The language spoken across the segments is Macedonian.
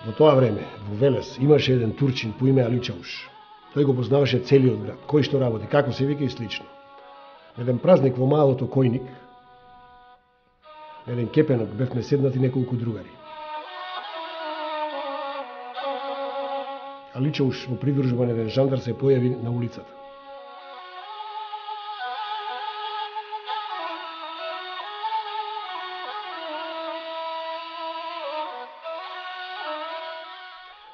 Во тоа време, во Велес, имаше еден турчин по име Али Чауш. Тој го познаваше целиот град, кој што работи, како се вика и слично. Еден празник во малото Којник, еден кепенок, бевме седнати неколку другари. Али Чауш во придружба на еден жандар се појави на улицата.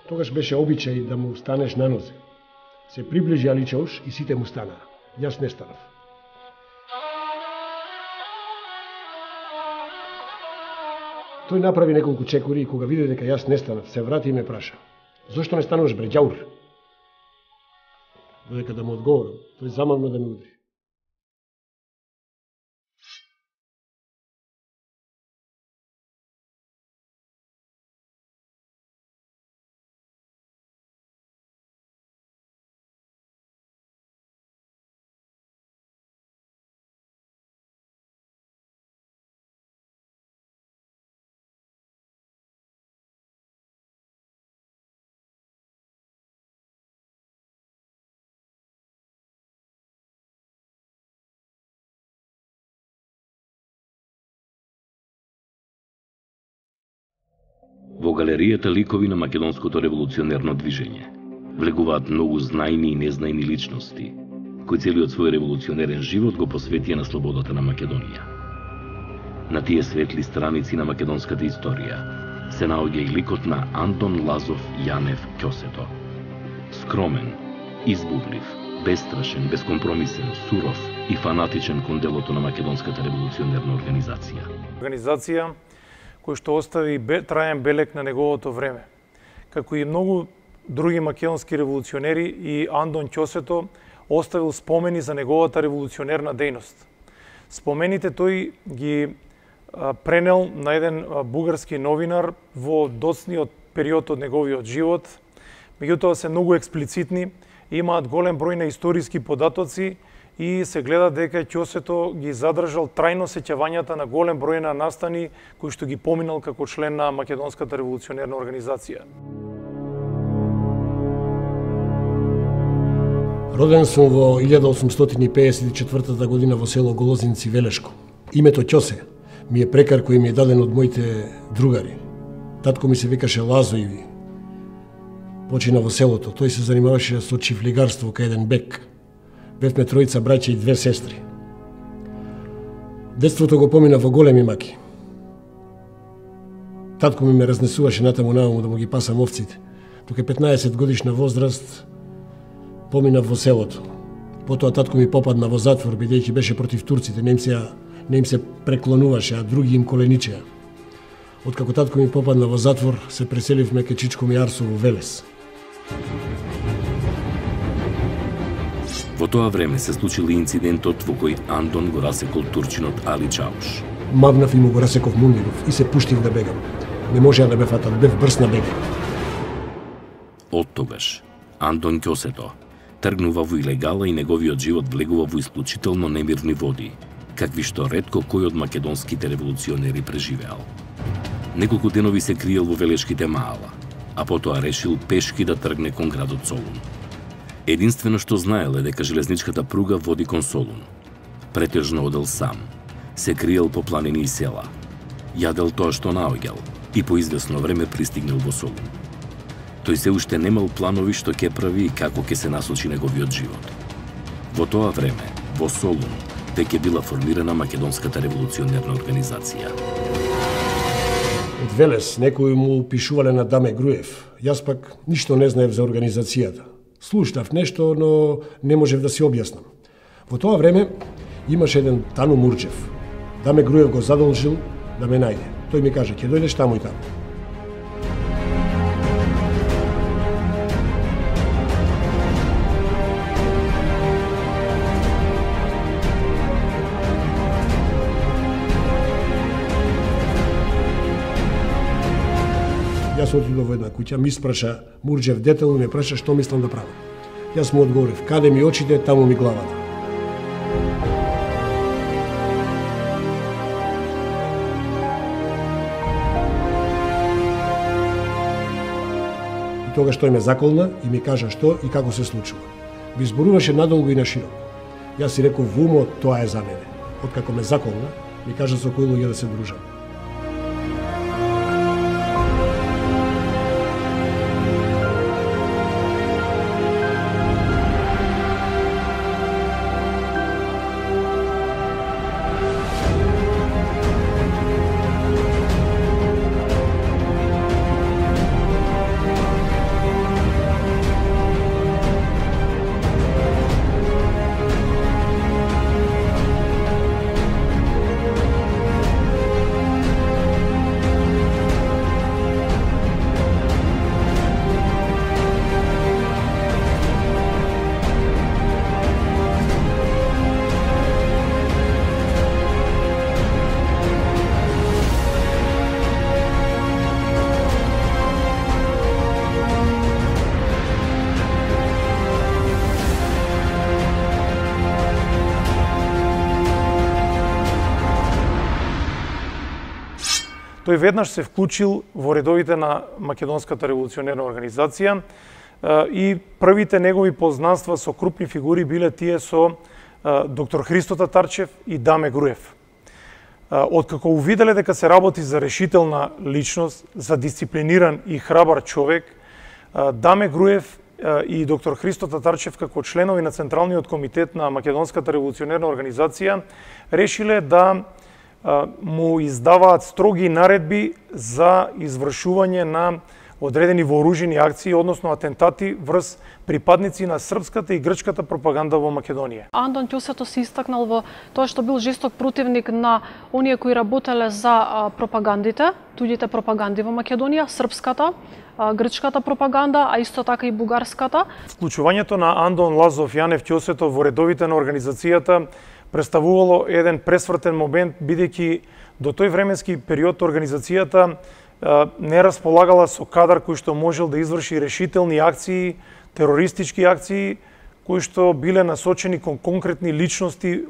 Тогаш беше обичај да му станеш на нозе. Се приближи Али Чауш и сите му станаа. Јас не станав. Тој направи неколку чекори и кога виде дека јас не станав, се врати и ме праша: "Зошто не стануваш, бре, ѓаур?" Додека да му одговорам, тој замавно да ме удри. Во галеријата ликови на македонското револуционерно движење влегуваат многу знајни и незнајни личности, кои целиот свој револуционерен живот го посветија на слободата на Македонија. На тие светли страници на македонската историја се наоѓа и ликот на Антон Лазов Јанев Ќосето. Скромен, избувлив, бестрашен, бескомпромисен, суров и фанатичен кон делото на македонската револуционерна организација. Организација кој што остави траен белег на неговото време. Како и многу други македонски револуционери, и Антон Ќосето оставил спомени за неговата револуционерна дејност. Спомените тој ги пренел на еден бугарски новинар во доцниот период од неговиот живот. Меѓутоа се многу експлицитни, имаат голем број на историски податоци и се гледа дека Ќосето ги задржал трајно сеќавањата на голем број на настани кои што ги поминал како член на Македонската револуционерна организација. Роден сум во 1854 година во село Голозинци, Велешко. Името Ќосе ми е прекар кој ми е даден од моите другари. Татко ми се викаше Лазо и почина во селото. Тој се занимаваше со чифлигарство кај еден бек. Бевме тројца браќа и 2 сестри. Детството го помина во големи маки. Татко ми ме разнесуваше натаму нааму да му ги пасам овците. Тука 15 годишна возраст помина во селото. Потоа татко ми попадна во затвор бидејќи беше против турците, не им се преклонуваше, а други им коленичеа. Откако татко ми попадна во затвор, се преселивме кај чичко ми Арсо во Велес. Во тоа време се случил инцидентот во кој Антон го расекол турчинот Али Чауш. Мавнав и му го расеков мундиров и се пуштив да бегам. Не можеа да ме фатат, бев брз на бег. Од тогаш Антон Ќосето тргнува во илегала и неговиот живот влегува во исклучително немирни води, какви што ретко кој од македонските револуционери преживеал. Неколку денови се криел во Велешките маала, а потоа решил пешки да тргне кон градот Солун. Единствено што знаел е дека железничката пруга води кон Солун. Претежно одел сам, се криел по планини и села, јадел тоа што наоѓал и по извесно време пристигнал во Солун. Тој се уште немал планови што ќе прави и како ќе се насочи неговиот живот. Во тоа време, во Солун, веќе била формирана Македонската револуционерна организација. Од Велес некои му пишувале на Даме Груев. Јас пак ништо не знаев за организацијата. Слушнав нешто, но не можев да си објаснам. Во тоа време имаше еден Тану Мурџев. Даме Груев го задолжил да ме најде. Тој ми каже: ќе дојдеш таму и таму. Јас отидов во една куќа, ми испраша Мурџев детелно, ме праша што мислам да правам. Јас му одговорив: каде ми очите, таму ми главата. тогаш тој ме заколна и ми кажа што и како се случува. Би зборуваше надолго и на широко. Јас си реков во умот, тоа е за мене. Откако ме заколна, ми кажа со кои луѓе да се дружам. Тој веднаш се вклучил во редовите на Македонската револуционерна организација и првите негови познанства со крупни фигури биле тие со доктор Христо Татарчев и Даме Груев. Откако увиделе дека се работи за решителна личност, за дисциплиниран и храбар човек, Даме Груев и доктор Христо Татарчев како членови на Централниот комитет на Македонската револуционерна организација решиле да му издаваат строги наредби за извршување на одредени вооружени акции, односно атентати врз припадници на српската и грчката пропаганда во Македонија. Андон Ќосето се истакнал во тоа што бил жесток противник на оние кои работеле за пропагандите, туѓите пропаганди во Македонија, српската, грчката пропаганда, а исто така и бугарската. Вклучувањето на Андон Лазов Јанев Ќосето во редовите на организацијата представувало еден пресвртен момент, бидејќи до тој временски период организацијата не располагала со кадар кој што можел да изврши решителни акции, терористички акции, кои што биле насочени кон конкретни личности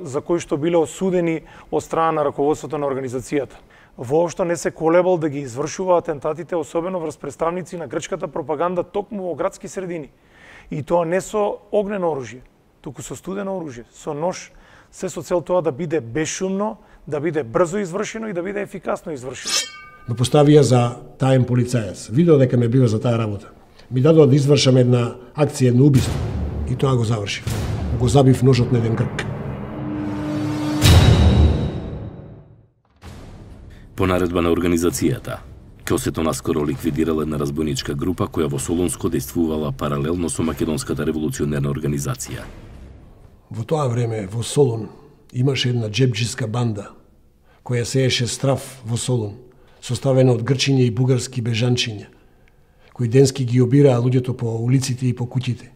за кои што биле осудени од страна на раководството на организацијата. Воопшто не се колебал да ги извршува атентатите, особено врз представници на грчката пропаганда токму во градски средини. И тоа не со огнено оружје, туку со студено оружје, со нож, се со цел тоа да биде бесшумно, да биде брзо извршено и да биде ефикасно извршено. Ме поставија за таен полицаец. Видео дека ме бива за таа работа. Ми дадоа да извршам една акција, едно убиство. И тоа го завршив. Го забив ножот на еден грк. По наредба на организацијата, Ќосето наскоро ликвидирала една разбойничка група која во Солунско действувала паралелно со Македонската револуционерна организација. Во тоа време во Солун имаше една джебџиска банда која сееше страв во Солун, составена од грчиња и бугарски бежанчиња, кои денски ги обираа луѓето по улиците и по куќите.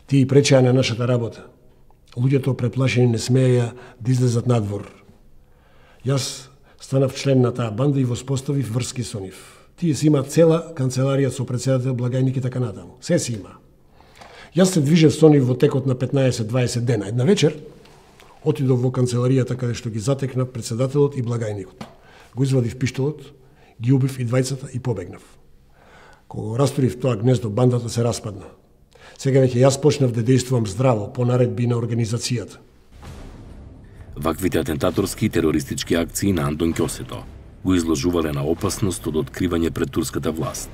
Тие пречеа на нашата работа. Луѓето преплашени не смееја да излезат надвор. Јас станав член на таа банда и воспоставив врски со нив. Тие си имаат цела канцеларија со председател, благајник и така натаму. Се си има. Јас се движев со нив во текот на 15-20 дена. Една вечер отидов во канцеларијата каде што ги затекнав председателот и благајникот. Го извадив пиштолот, ги убив и двајцата и побегнав. Кога го растурив тоа гнездо, бандата се распадна. Сега веќе јас почнав да действувам здраво по наредби на организацијата. Ваквите атентаторски и терористички акции на Андон Ќосето го изложувале на опасност од откривање пред турската власт,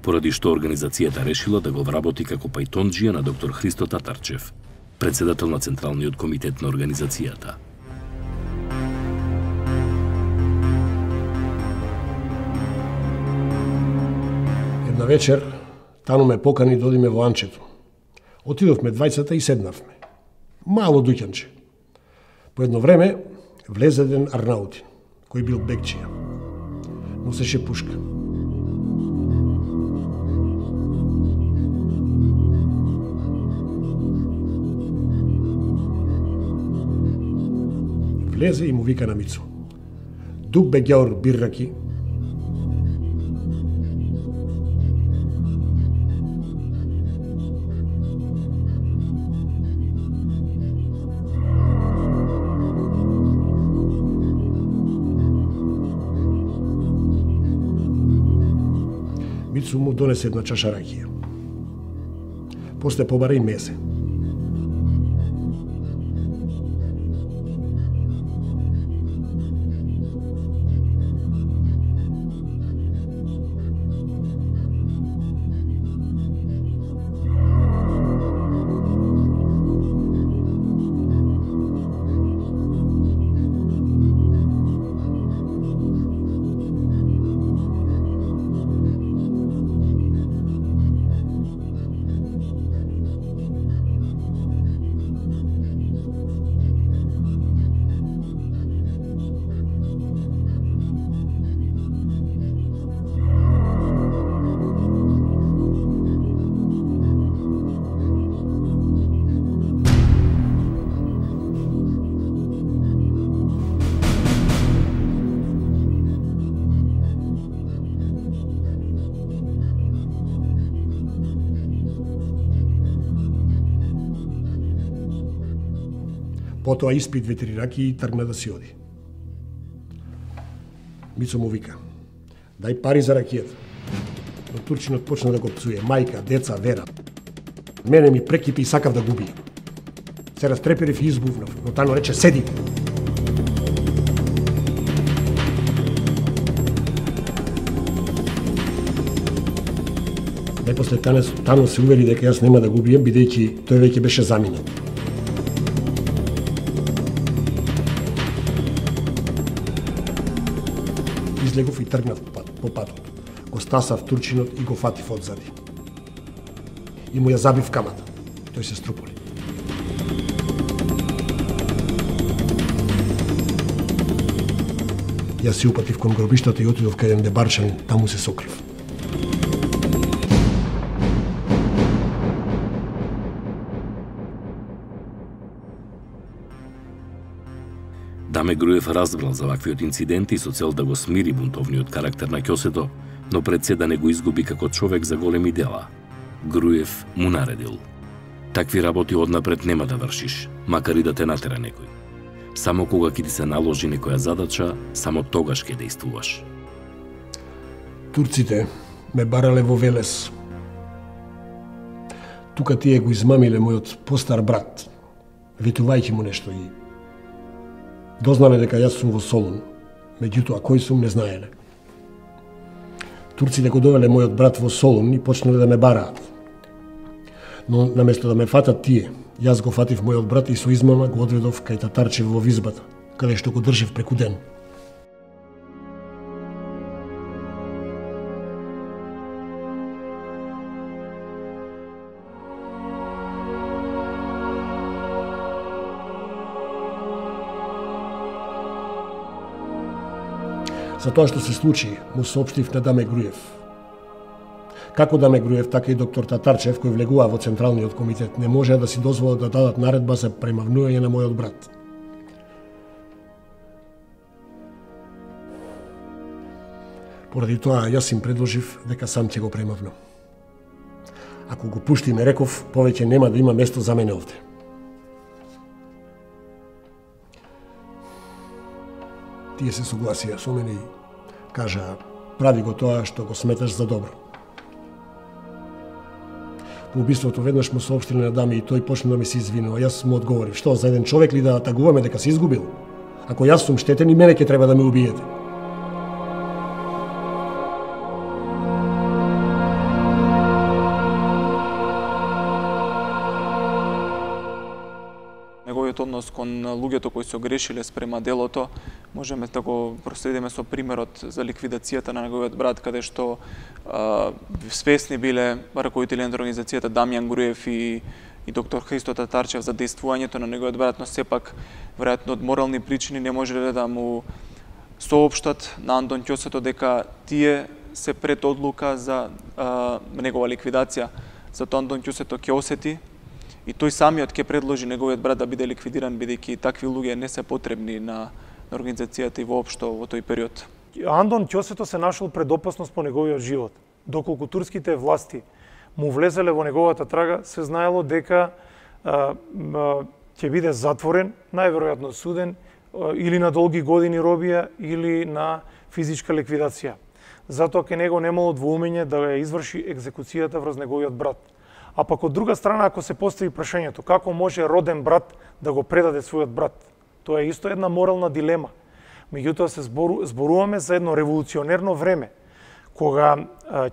поради што организацијата решила да го вработи како пајтонџија на доктор Христо Татарчев, председател на Централниот комитет на организацијата. Една вечер Тану ме покани да одиме во Анчето. Отидовме двајцата и седнавме. Мало дуќанче. По едно време влезе еден арнаутин, кој бил бекчија. Носеше пушка. Влезе и му вика на Мицо: "Дук бегјаур бирраки." Мицу му донесе една чаша ракија. После побара и мезе. Потоа испи 2-3 ракии и тргна да си оди. Мицо му вика: "Дај пари за ракијата." Но турчинот почна да го пцуе: "Мајка, деца, вера." Мене ми прекипи и сакав да го убијам. Се растреперив и избувнав, но Тано рече: "Седи." Најпосле Тано се увери дека јас нема да го убијам, бидејќи тој веќе беше заминал. Излегов и тргнав по патот. Го стасав турчинот и го фатив одзади. И му ја забив камата. Тој се струполи. Јас се упатив кон гробиштата и отидов кај еден дебарчанин, таму се сокрив. Даме Груев разбрал за ваквиот инцидент и со цел да го смири бунтовниот карактер на Ќосето, но пред се да не го изгуби како човек за големи дела. Груев му наредил: "Такви работи однапред нема да вршиш, макар и да те натера некој. Само кога ќе ти се наложи некоја задача, само тогаш ќе дејствуваш." Турците ме барале во Велес. Тука тие го измамиле мојот постар брат, ветувајќи му нешто и дознале дека јас сум во Солун, меѓутоа кој сум не знаеле. Турците го довеле мојот брат во Солун и почнале да ме бараат. Но наместо да ме фатат тие, јас го фатив мојот брат и со измама го одведов кај татарчев во визбата, каде што го држев преку ден. За тоа што се случи, му соопштив на Даме Груев. Како Даме Груев, така и доктор Татарчев, кој влегува во Централниот комитет, не можеа да си дозволат да дадат наредба за премавнување на мојот брат. Поради тоа, јас им предложив дека сам ќе го премавнам. Ако го пуштиме, реков, повеќе нема да има место за мене овде. Тие се согласија со мене и кажа: "Прави го тоа што го сметаш за добро." По убиството веднаш му соопштиле на Даме и тој почна да ми се извинува. Јас му одговорив: "Што, за еден човек ли да атагуваме дека се изгубил? Ако јас сум штетен, и мене ќе треба да ме убиете." Неговиот однос кон луѓето кои се огрешиле спрема делото, можеме да го проследиме со примерот за ликвидацијата на неговиот брат, каде што свесни биле раководители на организацијата Дамјан Груев и доктор Христо Татарчев за дејствувањето на неговиот брат, но сепак, веројатно од морални причини, не можеле да му соопштат на Андон Ќосето дека тие се пред одлука за негова ликвидација. Затоа Андон Ќосето ќе осети и тој самиот ќе предложи неговиот брат да биде ликвидиран, бидејќи такви луѓе не се потребни на организацијата и воопшто во тој период. Андон Ќосето се нашол пред опасност по неговиот живот. Доколку турските власти му влезеле во неговата трага, се знаело дека ќе биде затворен, најверојатно суден или на долги години робија или на физичка ликвидација. затоа ке него немало двоумење да ја изврши екзекуцијата врз неговиот брат. А пак од друга страна, ако се постави прашањето како може роден брат да го предаде својот брат, тоа е исто една морална дилема. Меѓутоа се зборуваме за едно револуционерно време, кога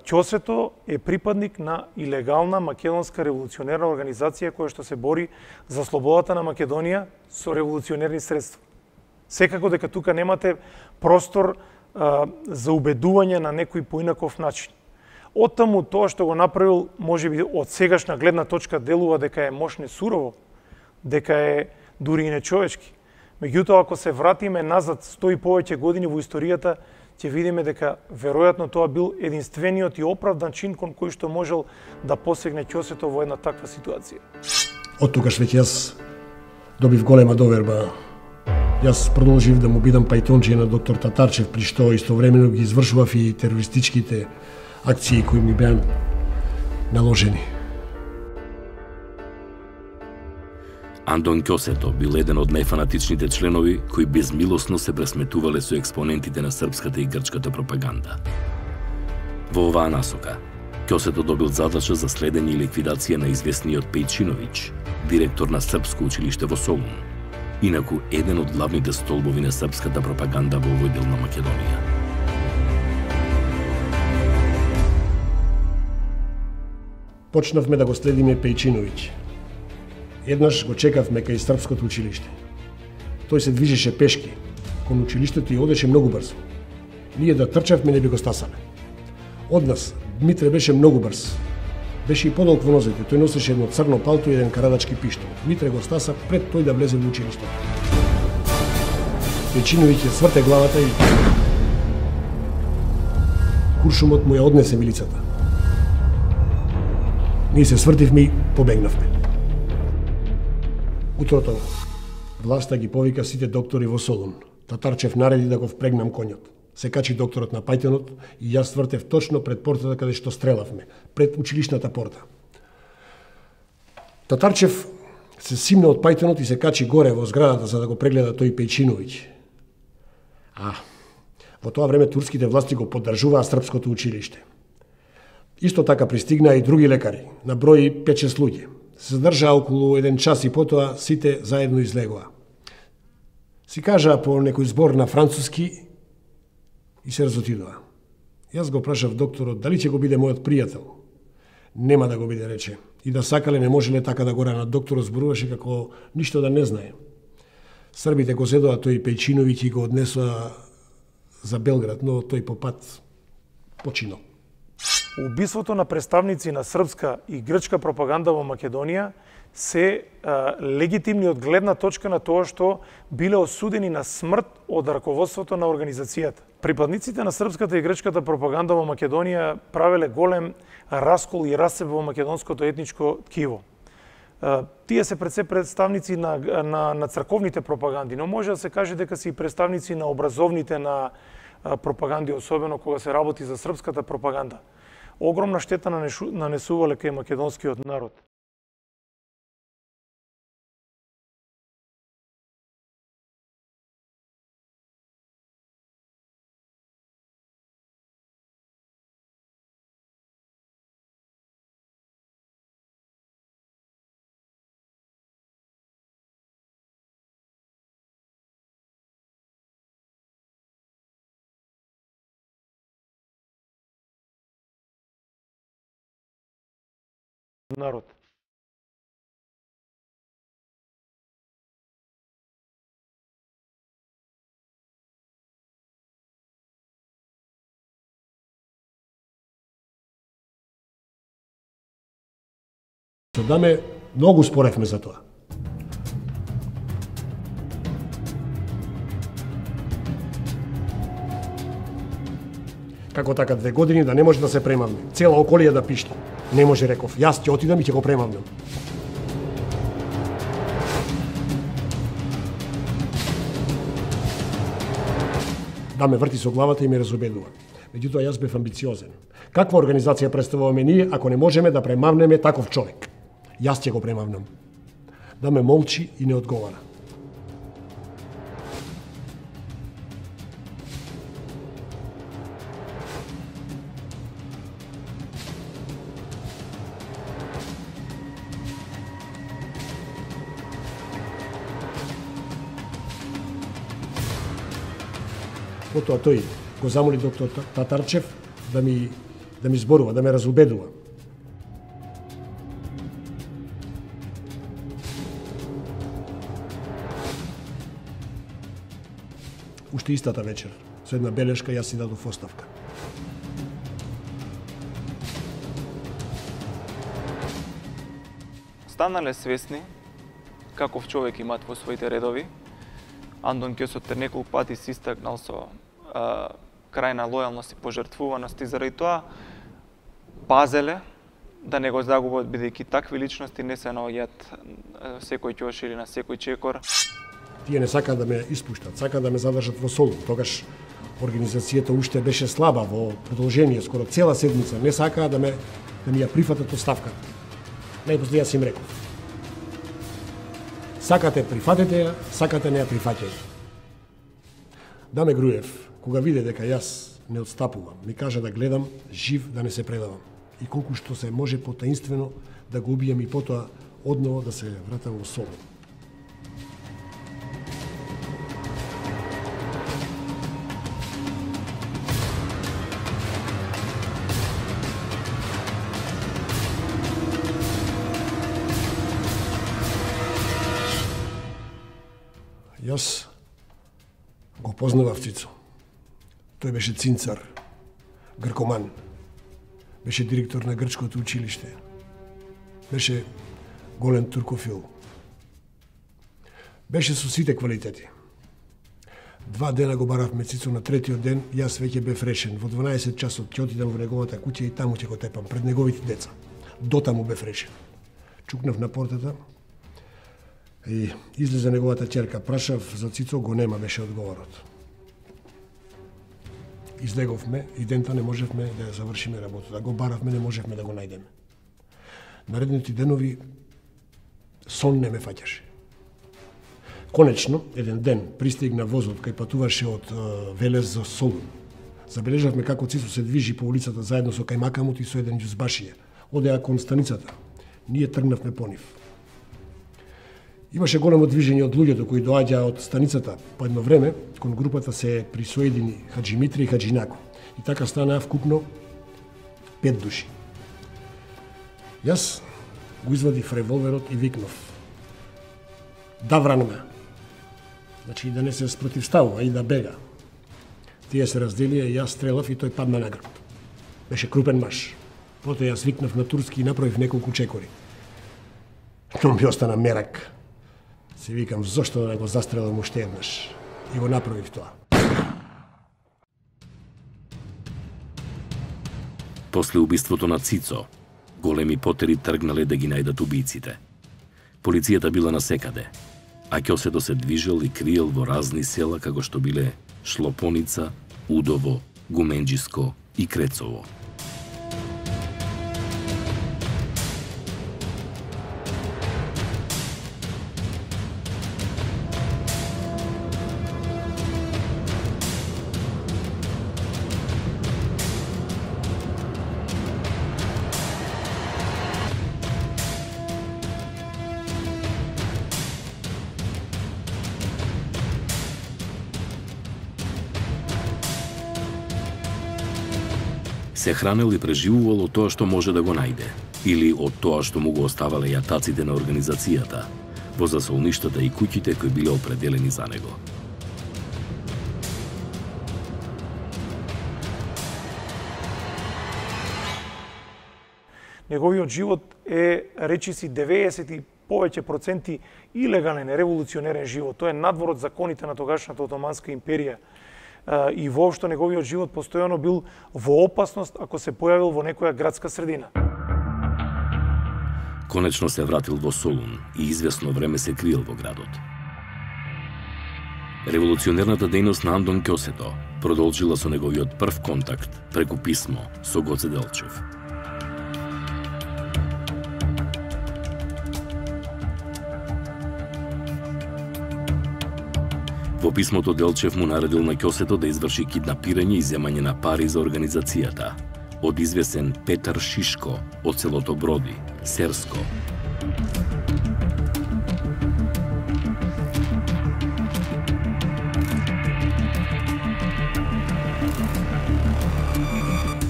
Ќосето е припадник на илегална македонска револуционерна организација која што се бори за слободата на Македонија со револуционерни средства. Секако дека тука немате простор за убедување на некој поинаков начин. Оттаму тоа што го направил, можеби од сегашна гледна точка делува дека е мошне сурово, дека е дури и нечовечки. Меѓутоа, ако се вратиме назад 100 и повеќе години во историјата, ќе видиме дека веројатно тоа бил единствениот и оправдан чин кон кој што можел да посегне Ќосето во една таква ситуација. Од тогаш веќе јас добив голема доверба. Јас продолжив да му бидам пајтонче на доктор Татарчев, при што истовремено ги извршував и терористичките акции кои ми беа наложени. Андон Ќосето бил еден од најфанатичните членови кои безмилосно се пресметувале со експонентите на српската и грчката пропаганда. Во оваа насока, Ќосето добил задача за следење и ликвидација на известниот Пејчиновиќ, директор на Српско училиште во Солун, инаку еден од главните столбови на српската пропаганда во овој дел на Македонија. Почнавме да го следиме Пејчиновиќ. Еднаш го чекавме кај Српското училиште. Тој се движеше пешки, кон училиштето и одеше многу брзо. Ние да трчавме не би го стасале. Од нас Дмитре беше многу брз. Беше и подолг во нозете, тој носеше едно црно палто и еден карадачки пиштол. Дмитре го стаса пред тој да влезе во училиштето. Пејчиновиќ ја сврте главата и куршумот му ја однесе милицата. Ние се свртивме и побегнавме. Утрото власта ги повика сите доктори во Солун. Татарчев нареди да го впрегнам конјот. Се качи докторот на пајтонот и јас свртев точно пред портата каде што стрелавме, пред училишната порта. Татарчев се симна од пајтонот и се качи горе во зградата за да го прегледа тој Пејчиновиќ. Во тоа време турските власти го поддржуваа Српското училиште. Исто така пристигнаа и други лекари, на број 5-6 луѓе. Се задржаа околу 1 час и потоа сите заедно излегоа. Си кажаа по некој збор на француски и се разотидоа. Јас го прашав докторот дали ќе го биде мојот пријател. Нема да го биде, рече. И да сакале не можеле така да го ранат. Докторот зборуваше како ништо да не знае. Србите го зедоа тој Пејчиновиќ и го однесоа за Белград, но тој по пат починал. Убиството на представници на српска и грчка пропаганда во Македонија се легитимни од гледна точка на тоа што биле осудени на смрт од раководството на организацијата. Припадниците на српската и грчката пропаганда во Македонија правеле голем раскол и расцеп во македонското етничко ткиво. Тие се пред се представници на црковните пропаганди, но може да се каже дека се и представници на образовните на пропаганди, особено кога се работи за српската пропаганда. Огромна штета нанесувале кај македонскиот народ. Народ. Со Даме многу споревме за тоа. Како така 2 години да не може да се премавне, цела околија да пишти. Не може, реков, јас ќе отидам и ќе го премавнам. Да ме врти со главата и ме разубедува. Меѓутоа јас бев амбициозен. Каква организација представуваме ние ако не можеме да премавнеме таков човек? Јас ќе го премавнам. Да ме молчи и не одговара. Потоа тој го замоли доктор Татарчев да ми зборува, да ме разубедува. Уште истата вечер, со една белешка, јас си дадов оставка. Станале свесни каков човек имаат во своите редови. Андон Ќосето неколку пати се истакнал со крајна лојалност и пожртвуваност и заради тоа пазеле да не го загубат, бидејќи такви личности не се наоѓаат секој ќош или на секој чекор. Тие не сакаат да ме испуштат, сакаат да ме задржат во Солун. Тогаш организацијата уште беше слаба во продолжение, скоро цела седмица. Не сакаат да ми ја прифатат оставката. Најпосле јас им реков: сакате прифатете ја, сакате не ја прифаќајте. Даме Груев, кога виде дека јас не отстапувам, ми кажа да гледам жив да не се предавам и колку што се може потаинствено да го убијам и потоа одново да се вратам во Солун. Јас го познавав Цицо. Тој беше цинцар, гркоман. Беше директор на грчкото училиште. Беше голем туркофил. Беше со сите квалитети. 2 дена го баравме Цицо, на третиот ден јас веќе бев решен. Во 12 часот ќе отидам во неговата куќа и таму ќе го тепам пред неговите деца. Дотаму бев решен. Чукнав на портата и излезе неговата ќерка. Прашав за Цицо, го нема, беше одговорот. Излеговме и дента не можевме да ја завршиме работата. Го баравме, не можевме да го најдеме. Наредните денови сон не ме фаќаше. Конечно, еден ден пристигна возот кај патуваше од Велес за Солун. Забележавме како Цицо се движи по улицата заедно со кајмакамот и со еден џузбашија. Одеа кон станицата. Ние тргнавме по нив. Имаше големо движење од луѓето кои доаѓаа од станицата. По едно време, кон групата се присоедини Хаджи Митри и Хаджи Нако. И така станаа вкупно 5 души. Јас го извадив револверот и викнав: да вранме. Значи да не се спротивставува и да бега. Тие се разделија и јас стрелав и тој падна на грб. Беше крупен маж. Потоа јас викнав на турски и направив неколку чекори. Но ми остана мерак. Си викам, зошто да не го застрелам уште еднаш? И го направив тоа. После убиството на Цицо, големи потери тргнале да ги најдат убиците. Полицијата била насекаде, а Ќосето се движел и криел во разни села како што биле Шлопоница, Удово, Гуменџиско и Крецово. Се хранел и преживувал од тоа што може да го најде, или од тоа што му го оставале јатаците на организацијата, во засолништата и куќите кои биле определени за него. Неговиот живот е, речиси, 90 и повеќе проценти илегален, револуционерен живот. Тоа е надвор од законите на тогашната Отоманска империја. И воопшто неговиот живот постојано бил во опасност ако се појавил во некоја градска средина. Конечно се вратил во Солун и извесно време се криел во градот. Револуционерната дејност на Андон Ќосето продолжила со неговиот прв контакт преку писмо со Гоце Делчев. Во писмото Делчев му наредил на Ќосето да изврши киднапирање и земање на пари за организацијата од известен Петар Шишко од селото Броди, Серско.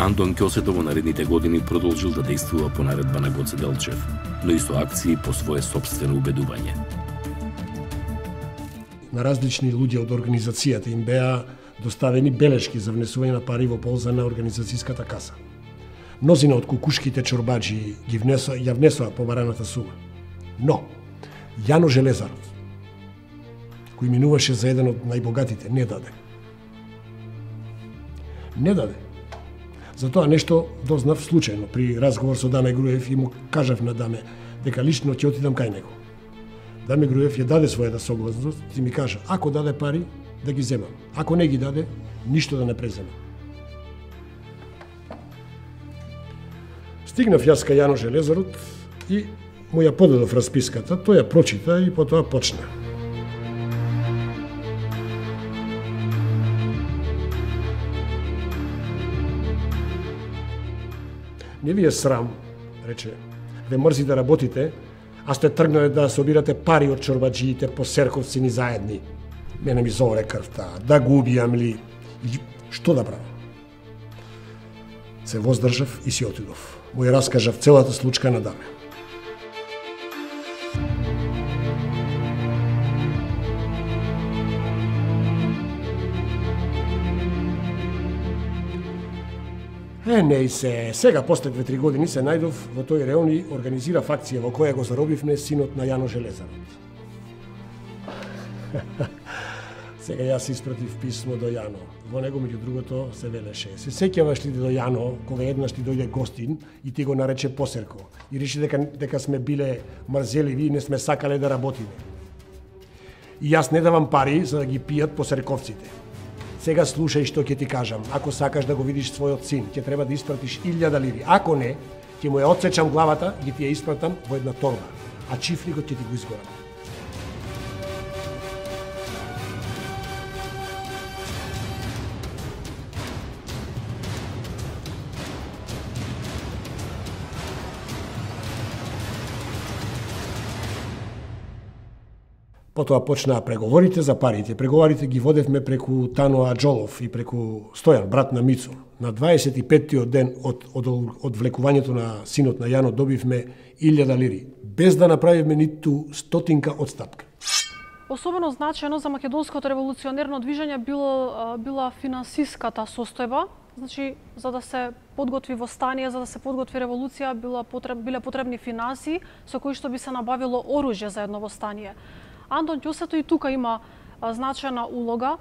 Андон Ќосето во наредните години продолжил да действува по наредба на Гоце Делчев, но и со акции по свое собствено убедување. На различни луѓе од организацијата им беа доставени белешки за внесување на пари во полза на организацијската каса. Мнозина од кукушките чорбаджи ја внесоа побараната сума. Но, Јано Железарот, кој минуваше за еден од најбогатите, не даде. Не даде. Затоа нешто дознав случајно при разговор со Даме Груев и му кажав на Даме дека лично ќе отидам кај него. Даме Груев ја даде својата согласност и ми кажа, ако даде пари, да ги земам. Ако не ги даде, ништо да не преземам. Стигнав јас кај Јано Железарот и му ја подадов расписката, тој ја прочита и потоа почна. Не ви е срам, рече, ве мрзи да работите, а сте тргнале да собирате пари од чорбаджиите по серковци ни заедни. Мене ми зоре крвта, да го убијам ли, што да правам? Се воздржав и си отидов. Му ја раскажав целата случка на Даме. Не се, сега после 2-3 години се најдов во тој реон и организирав акција во која го заробивме синот на Јано Железарот. Сега јас испратив писмо до Јано. Во него меѓу другото се велеше: се сеќаваш ли до Јано кога еднаш ти дојде гостин и ти го нарече посерко и реши дека сме биле мрзеливи и не сме сакале да работиме. И јас не давам пари за да ги пијат посерковците. Сега слушај што ќе ти кажам. Ако сакаш да го видиш својот син, ќе треба да испратиш 1000 лири. Ако не, ќе му ја отсечам главата и ти ја испратам во една торба, а чифликот ќе ти го изгорам. Потоа почнаа преговорите за парите. Преговорите ги водевме преку Тано Аџолов и преку Стојан, брат на Мицо. На 25-тиот ден од влекувањето на синот на Јано добивме 1000 лири, без да направиме ниту стотинка одстапка. Особено значено за македонското револуционерно движење била финансиската состојба. Значи, за да се подготви восстание, за да се подготви револуција, биле потребни финанси со кои што би се набавило оружје за едно восстание. Андон Ќосето и тука има значајна улога,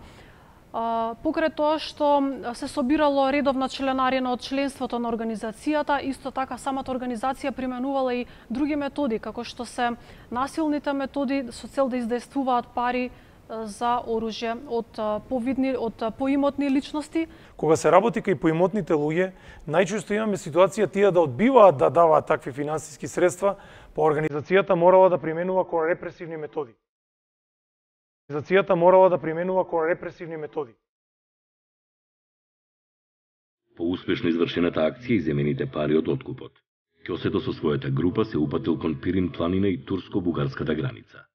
покрај тоа што се собирало редовна членарина од членството на организацијата, исто така самата организација применувала и други методи, како што се насилните методи со цел да издействуваат пари за оружје од поимотни личности. Кога се работи кај поимотните луѓе, најчесто имаме ситуација тие да одбиваат да даваат такви финансиски средства, па организацијата морала да применува кон репресивни методи. По успешно извршената акција и земените пари од откупот, Ќосето со својата група се упатил кон Пирин планина и турско-бугарската граница.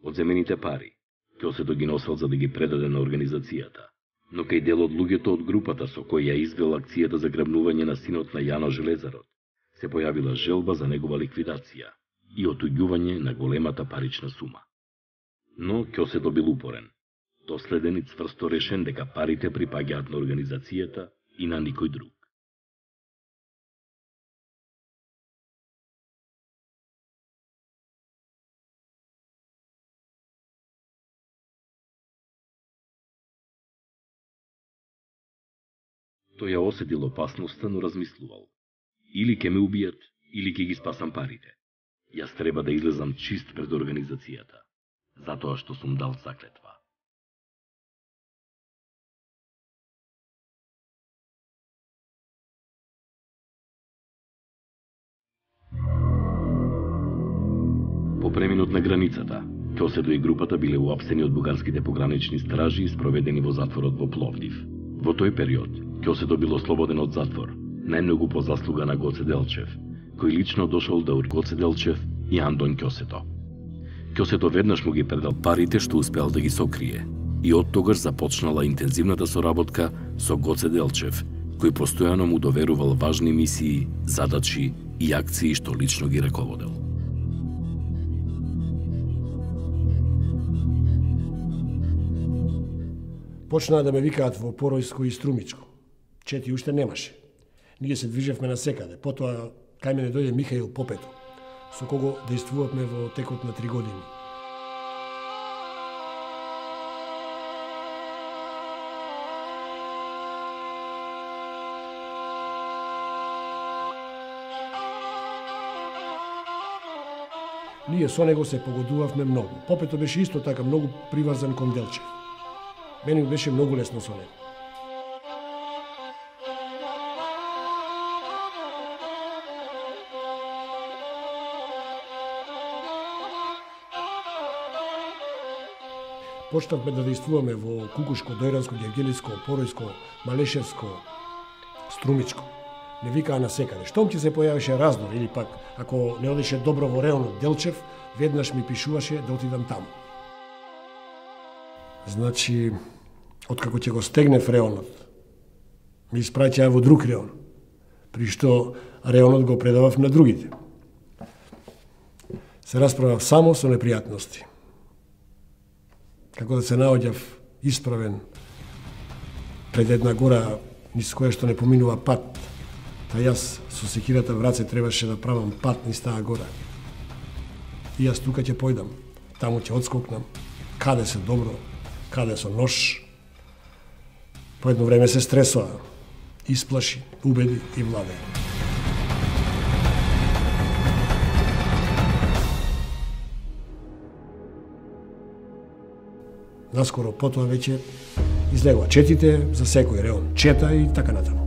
Од земените пари, Ќосето ги носел за да ги предаде на организацијата, но кај дел од луѓето од групата со кој ја извел акцијата за грабнување на синот на Јано Железарот, се појавила желба за негова ликвидација и отуѓување на големата парична сума. Но Ќосето бил упорен, доследен и цврсто решен дека парите припаѓаат на организацијата и на никој друг. Тој ја осетил опасноста, но размислувал. Или ќе ме убијат, или ќе ги спасам парите. Јас треба да излезам чист пред организацијата, затоа што сум дал заклетва. По преминот на границата, Ќосето и групата биле уапсени од бугарските погранични стражи и спроведени во затворот во Пловдив. Во тој период, Ќосето бил ослободен од затвор, најмногу по заслуга на Гоце Делчев, кој лично дошол да Гоце Делчев и Андон Ќосето. Ќосето веднаш му ги предал парите што успеал да ги сокрие и од тогаш започнала интензивната соработка со Гоце Делчев, кој постојано му доверувал важни мисии, задачи и акции што лично ги раководел. Почнаа да ме викаат во Поројско и Струмичко. Чети уште немаше. Ние се движевме насекаде. Потоа кај мене дојде Михаил Попето, со кого дејствувавме во текот на 3 години. Ние со него се погодувавме многу. Попето беше исто така многу приврзан кон Делчев. Мене беше многу лесно со него. Почнавме да дејствуваме во Кукушко, Дојранско, Гевгелиско, Поројско, Малешевско, Струмичко. Не викаа насекаде. Штом ќе се појавеше раздор или пак ако не одеше добро во реонот Делчев, веднаш ми пишуваше да отидам таму. Значи, откако ќе го стегнев реонот, ми испраќаа во друг реон, при што реонот го предавав на другите. Се расправав само со непријатности. Како да се наоѓав исправен пред една гора низ која што не поминува пат, та јас со секирата в раце требаше да правам пат низ таа гора. И јас тука ќе појдам, таму ќе одскокнам, каде се добро, каде со нож. По едно време се стресоа, исплаши, убеди и владе. Наскоро потоа веќе излегува четите за секој реон, чета и така натаму.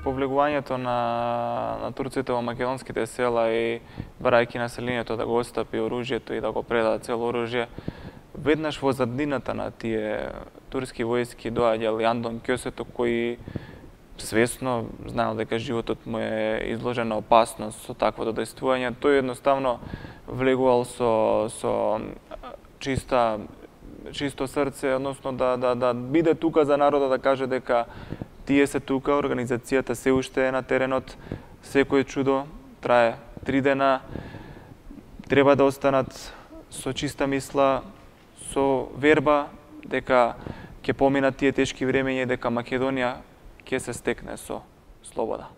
Повлегувањето на турците во македонските села и барајќи населението да го отстапи оружјето и да го предадат цело оружје, веднаш во заднината на тие турски војски доаѓал и Андон Ќосето, кој свесно знаел дека животот му е изложен на опасност со таквото дејствување. Тој едноставно влегувал со чисто срце, односно да биде тука за народот, да каже дека тие се тука, организацијата се уште е на теренот, секој чудо трае 3 дена, треба да останат со чиста мисла, со верба дека ќе поминат тие тешки времења и дека Македонија ќе се стекне со слобода.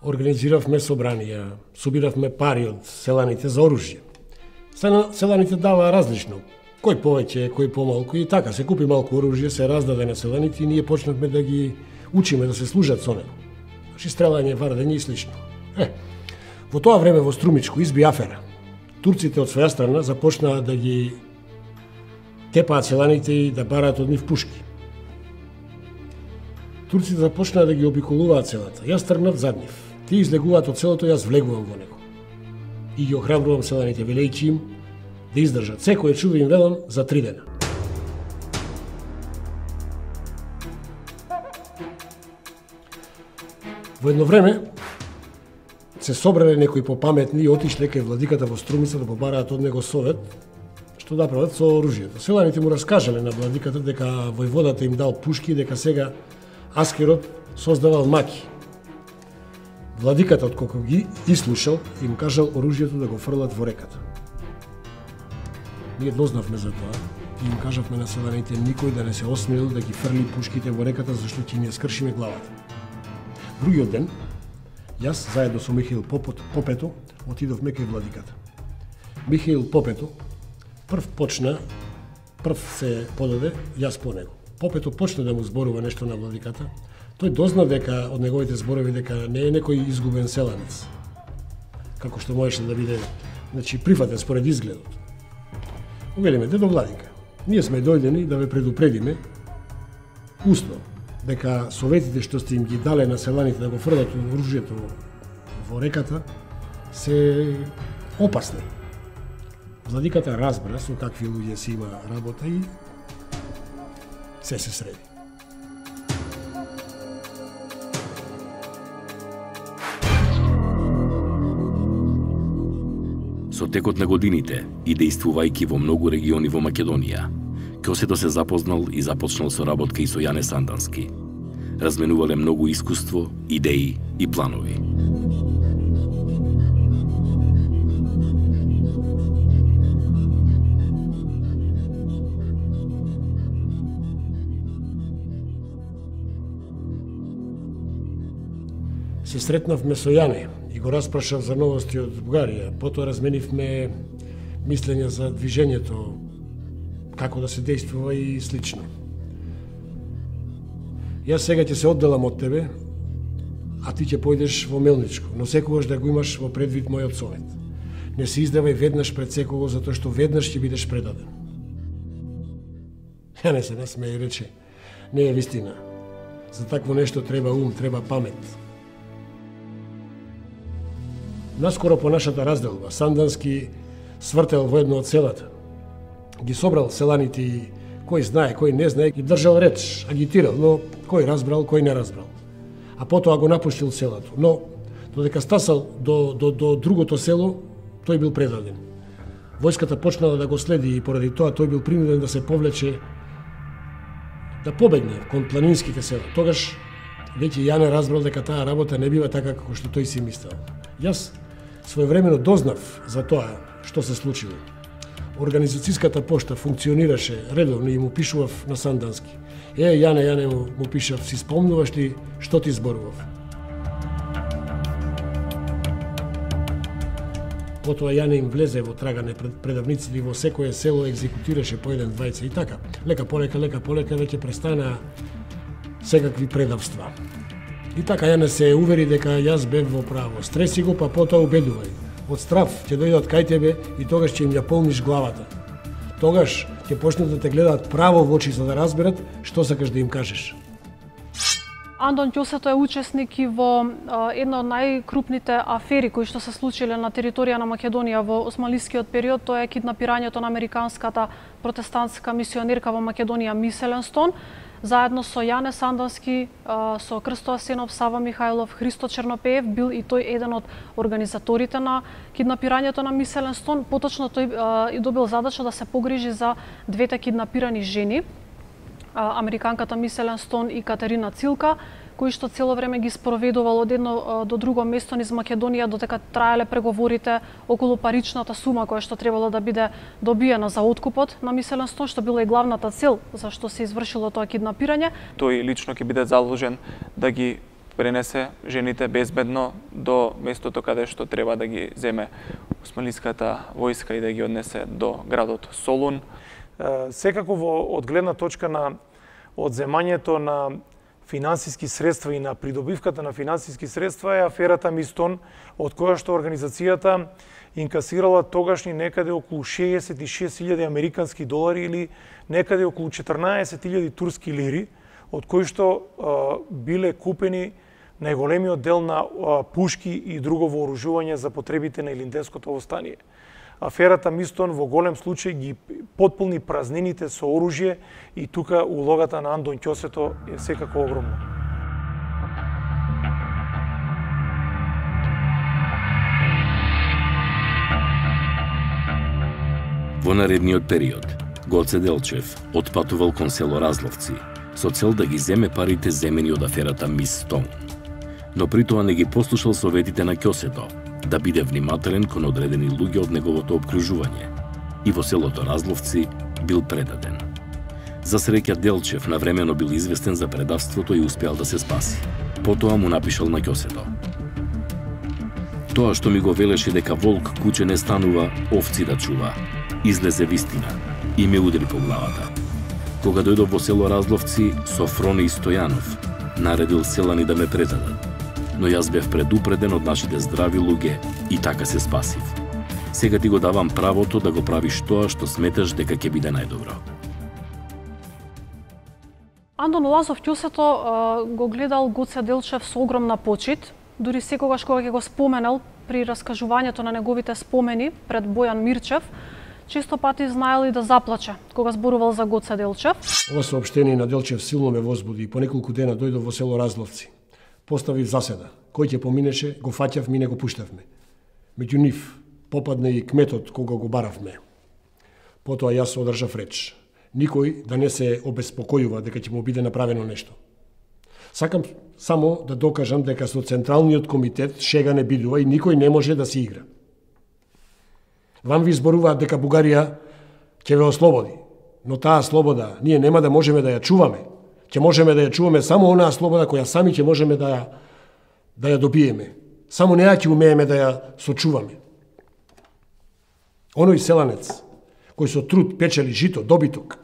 Организиравме собранија, собиравме пари од селаните за оружје. Селаните даваа различно, кој повеќе, кој помалку, и така се купи малку оружје, се раздаде на селаните и ние почнавме да ги учиме да се служат со него. Значи стрелање, вардење и слично. Во тоа време во Струмичко изби афера. Турците од своја страна започнаа да ги тепаат селаните и да бараат од нив пушки. Турците започнаа да ги обиколуваат селата. Јас тргнав зад нив. Тие излегуваат од селото, јас влегувам во него. И ги охрабрувам селаните, велејќи им да издржат. Секој чудо им велам за 3 дена. Во едно време се собрале некои попаметни и отишле кај владиката во Струмица да побараат од него совет што да прават со оружјето. Селаните му раскажале на владиката дека војводата им дал пушки, дека сега Аскерот создавал маки. Владиката, откако ги ислушал, им кажал оружјето да го фрлат во реката. Ние дознавме за тоа и им кажавме на селаните никој да не се осмелил да ги фрли пушките во реката, зашто ќе ни ја скршиме главата. Другиот ден, јас заедно со Михаил Попето отидовме кај владиката. Михаил Попето прв се подаде, јас по него. Попето почна да му зборува нешто на владиката. Тој дозна дека од неговите зборови дека не е некој изгубен селанец, како што можеше да биде, значи прифатен според изгледот. Увелиме, дедо владика, ние сме дојдени да ве предупредиме усно дека советите што сте им ги дале на селаните да го фрлат оружјето во реката се опасни. Владиката разбра со какви луѓе си има работа и се среди. Со Со текот на годините и действувајќи во многу региони во Македонија, Ќосето се запознал и започнал со работка и со Јане Сандански. Разменувале многу искуство, идеи и планови. Се сретнавме со Јане и го распрашав за новости од Бугарија. Потоа разменивме мислења за движењето, како да се действува и слично. Јас сега ќе се одделам од тебе, а ти ќе појдеш во Мелничко, но секогаш да го имаш во предвид мојот совет. Не се издавај веднаш пред секого, затоа што веднаш ќе бидеш предаден. Јане се насмеја и рече, не е вистина. За такво нешто треба ум, треба памет. Наскоро по нашата разделба, Сандански свртел во едно од селата. Ги собрал селаните и кој знае, кој не знае, и држал реч, агитирал, но кој разбрал, кој не разбрал. А потоа го напуштил селото. Но, додека стасал до другото село, тој бил предаден. Војската почнала да го следи и поради тоа тој бил принуден да се повлече, да побегне кон планинските села. Тогаш веќе Јане разбрал дека таа работа не бива така како што тој си мислел. Јас своевремено дознав за тоа што се случило. Организацијската пошта функционираше редовно и му пишував на Сандански. Јане му пишав, си спомнуваш ли што ти зборував? Потоа Јане им влезе во трагане пред предавниците и во секое село екзекутираше по еден, двајца и така. Лека полека веќе престанаа секакви предавства. И така Јане се увери дека јас бев во право. Стреси го, па потоа убедувај. Од страв ќе дојдат кај тебе и тогаш ќе им ја полниш главата. Тогаш ќе почнат да те гледаат право во очи за да разберат што сакаш да им кажеш. Андон Ќосето е учесник и во една од најкрупните афери кои што се случиле на територија на Македонија во османлискиот период, тоа е киднапирањето на американската протестантска мисионерка во Македонија Мис Еленстон. Заедно со Јане Сандански, со Крсто Асенов, Сава Михајлов, Христо Чернопеев, бил и тој еден од организаторите на киднапирањето на Мис Еленстон. Поточно тој и добил задача да се погрижи за двете киднапирани жени, американката Мис Еленстон и Катерина Цилка, кои што цело време ги спроведувал од едно до друго место низ Македонија, додека траеле преговорите околу паричната сума која што требало да биде добиена за откупот на Мис Еленстон, што била и главната цел за што се извршило тоа киднапирање. Тој лично ќе биде заложен да ги пренесе жените безбедно до местото каде што треба да ги земе османлиската војска и да ги однесе до градот Солун. Секако од гледна точка на одземањето на финансиски средства и на придобивката на финансиски средства е аферата Мистон, од која што организацијата инкасирала тогашни некаде околу 66.000 американски долари или некаде околу 14.000 турски лири, од кои што биле купени најголемиот дел на пушки и друго вооружување за потребите на Илинденското востание. Аферата Мистон во голем случај ги потполни празнините со оружје и тука улогата на Андон Ќосето е секако огромна. Во наредниот период, Гоце Делчев отпатувал кон село Разловци со цел да ги земе парите земени од аферата Мистон. Но при тоа не ги послушал советите на Ќосето, да биде внимателен кон одредени луѓе од неговото обкружување и во селото Разловци бил предаден. За среќа Делчев навремено бил известен за предавството и успеал да се спаси. Потоа му напишал на Ќосето: "Тоа што ми го велеше дека волк куче не станува, овци да чува, излезе вистина и ме удри по главата. Кога дојдов во село Разловци со Фрони и Стојанов, наредил селани да ме предадат. Но јас бев предупреден од нашите здрави луѓе и така се спасив. Сега ти го давам правото да го правиш тоа што сметаш дека ќе биде најдобро." Андон Лазов Ќосето го гледал Гоце Делчев со огромна почит, дури секогаш кога ќе го споменал при раскажувањето на неговите спомени пред Бојан Мирчев, често пати знаел и да заплаче кога зборувал за Гоце Делчев. Ова соопштение на Делчев силно ме возбуди и по неколку дена дојдов во село Разловци. Поставив заседа. Кој ќе поминеше, го фаќав, ми не го пуштавме. Меѓу нив, попадна и кметот кога го баравме. Потоа јас одржав реч. Никој да не се обеспокојува дека ќе му биде направено нешто. Сакам само да докажам дека со Централниот комитет шега не бидува и никој не може да се игра. Вам ви зборуваат дека Бугарија ќе ве ослободи, но таа слобода ние нема да можеме да ја чуваме. Ќе можеме да ја чуваме само онаа слобода која сами ќе можеме да ја добиеме. Само неа ќе умееме да ја сочуваме. Оној селанец кој со труд печели жито, добиток,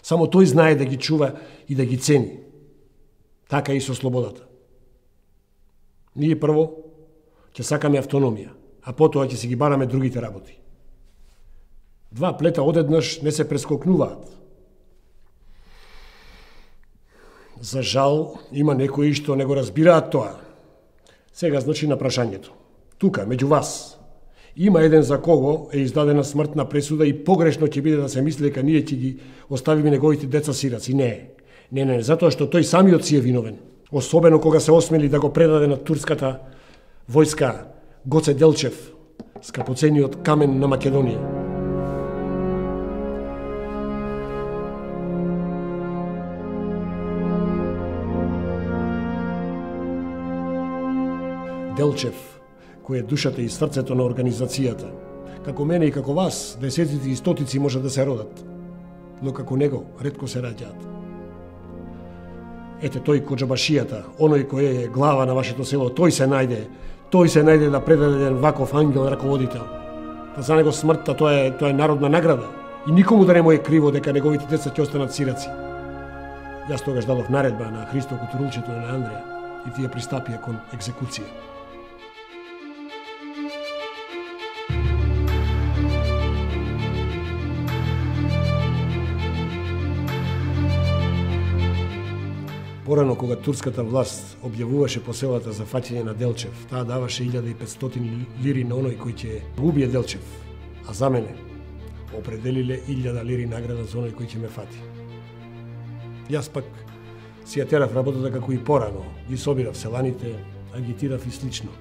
само тој знае да ги чува и да ги цени. Така и со слободата. Ние прво ќе сакаме автономија, а потоа ќе си ги бараме другите работи. Два плета одеднаш не се прескокнуваат. За жал, има некои што не го разбираат тоа. Сега значи на прашањето. Тука, меѓу вас, има еден за кого е издадена смртна пресуда и погрешно ќе биде да се мисли дека ние ќе ги оставиме неговите деца сираци. Не, затоа што тој самиот си е виновен. Особено кога се осмели да го предаде на турската војска Гоце Делчев, скапоцениот камен на Македонија. Делчев, кој е душата и срцето на организацијата. Како мене и како вас, десетици и стотици може да се родат, но како него ретко се раѓаат. Ете тој коџабашијата, оној кој е глава на вашето село, тој се најде да предаде еден ваков ангел раководител. Па за него смртта тоа е народна награда и никому да не му е криво дека неговите деца ќе останат сираци. Јас тогаш дадов наредба на Христо Кутурулчето и на Андреја и тие пристапија кон екзекуција. Порано, кога турската власт објавуваше по селата за фаќање на Делчев, таа даваше 1500 лири на оној кој ќе убие Делчев, а за мене определиле 1000 лири награда за оној кој ќе ме фати. Јас пак си ја терав работата како и порано, ги собирав селаните, агитирав и слично.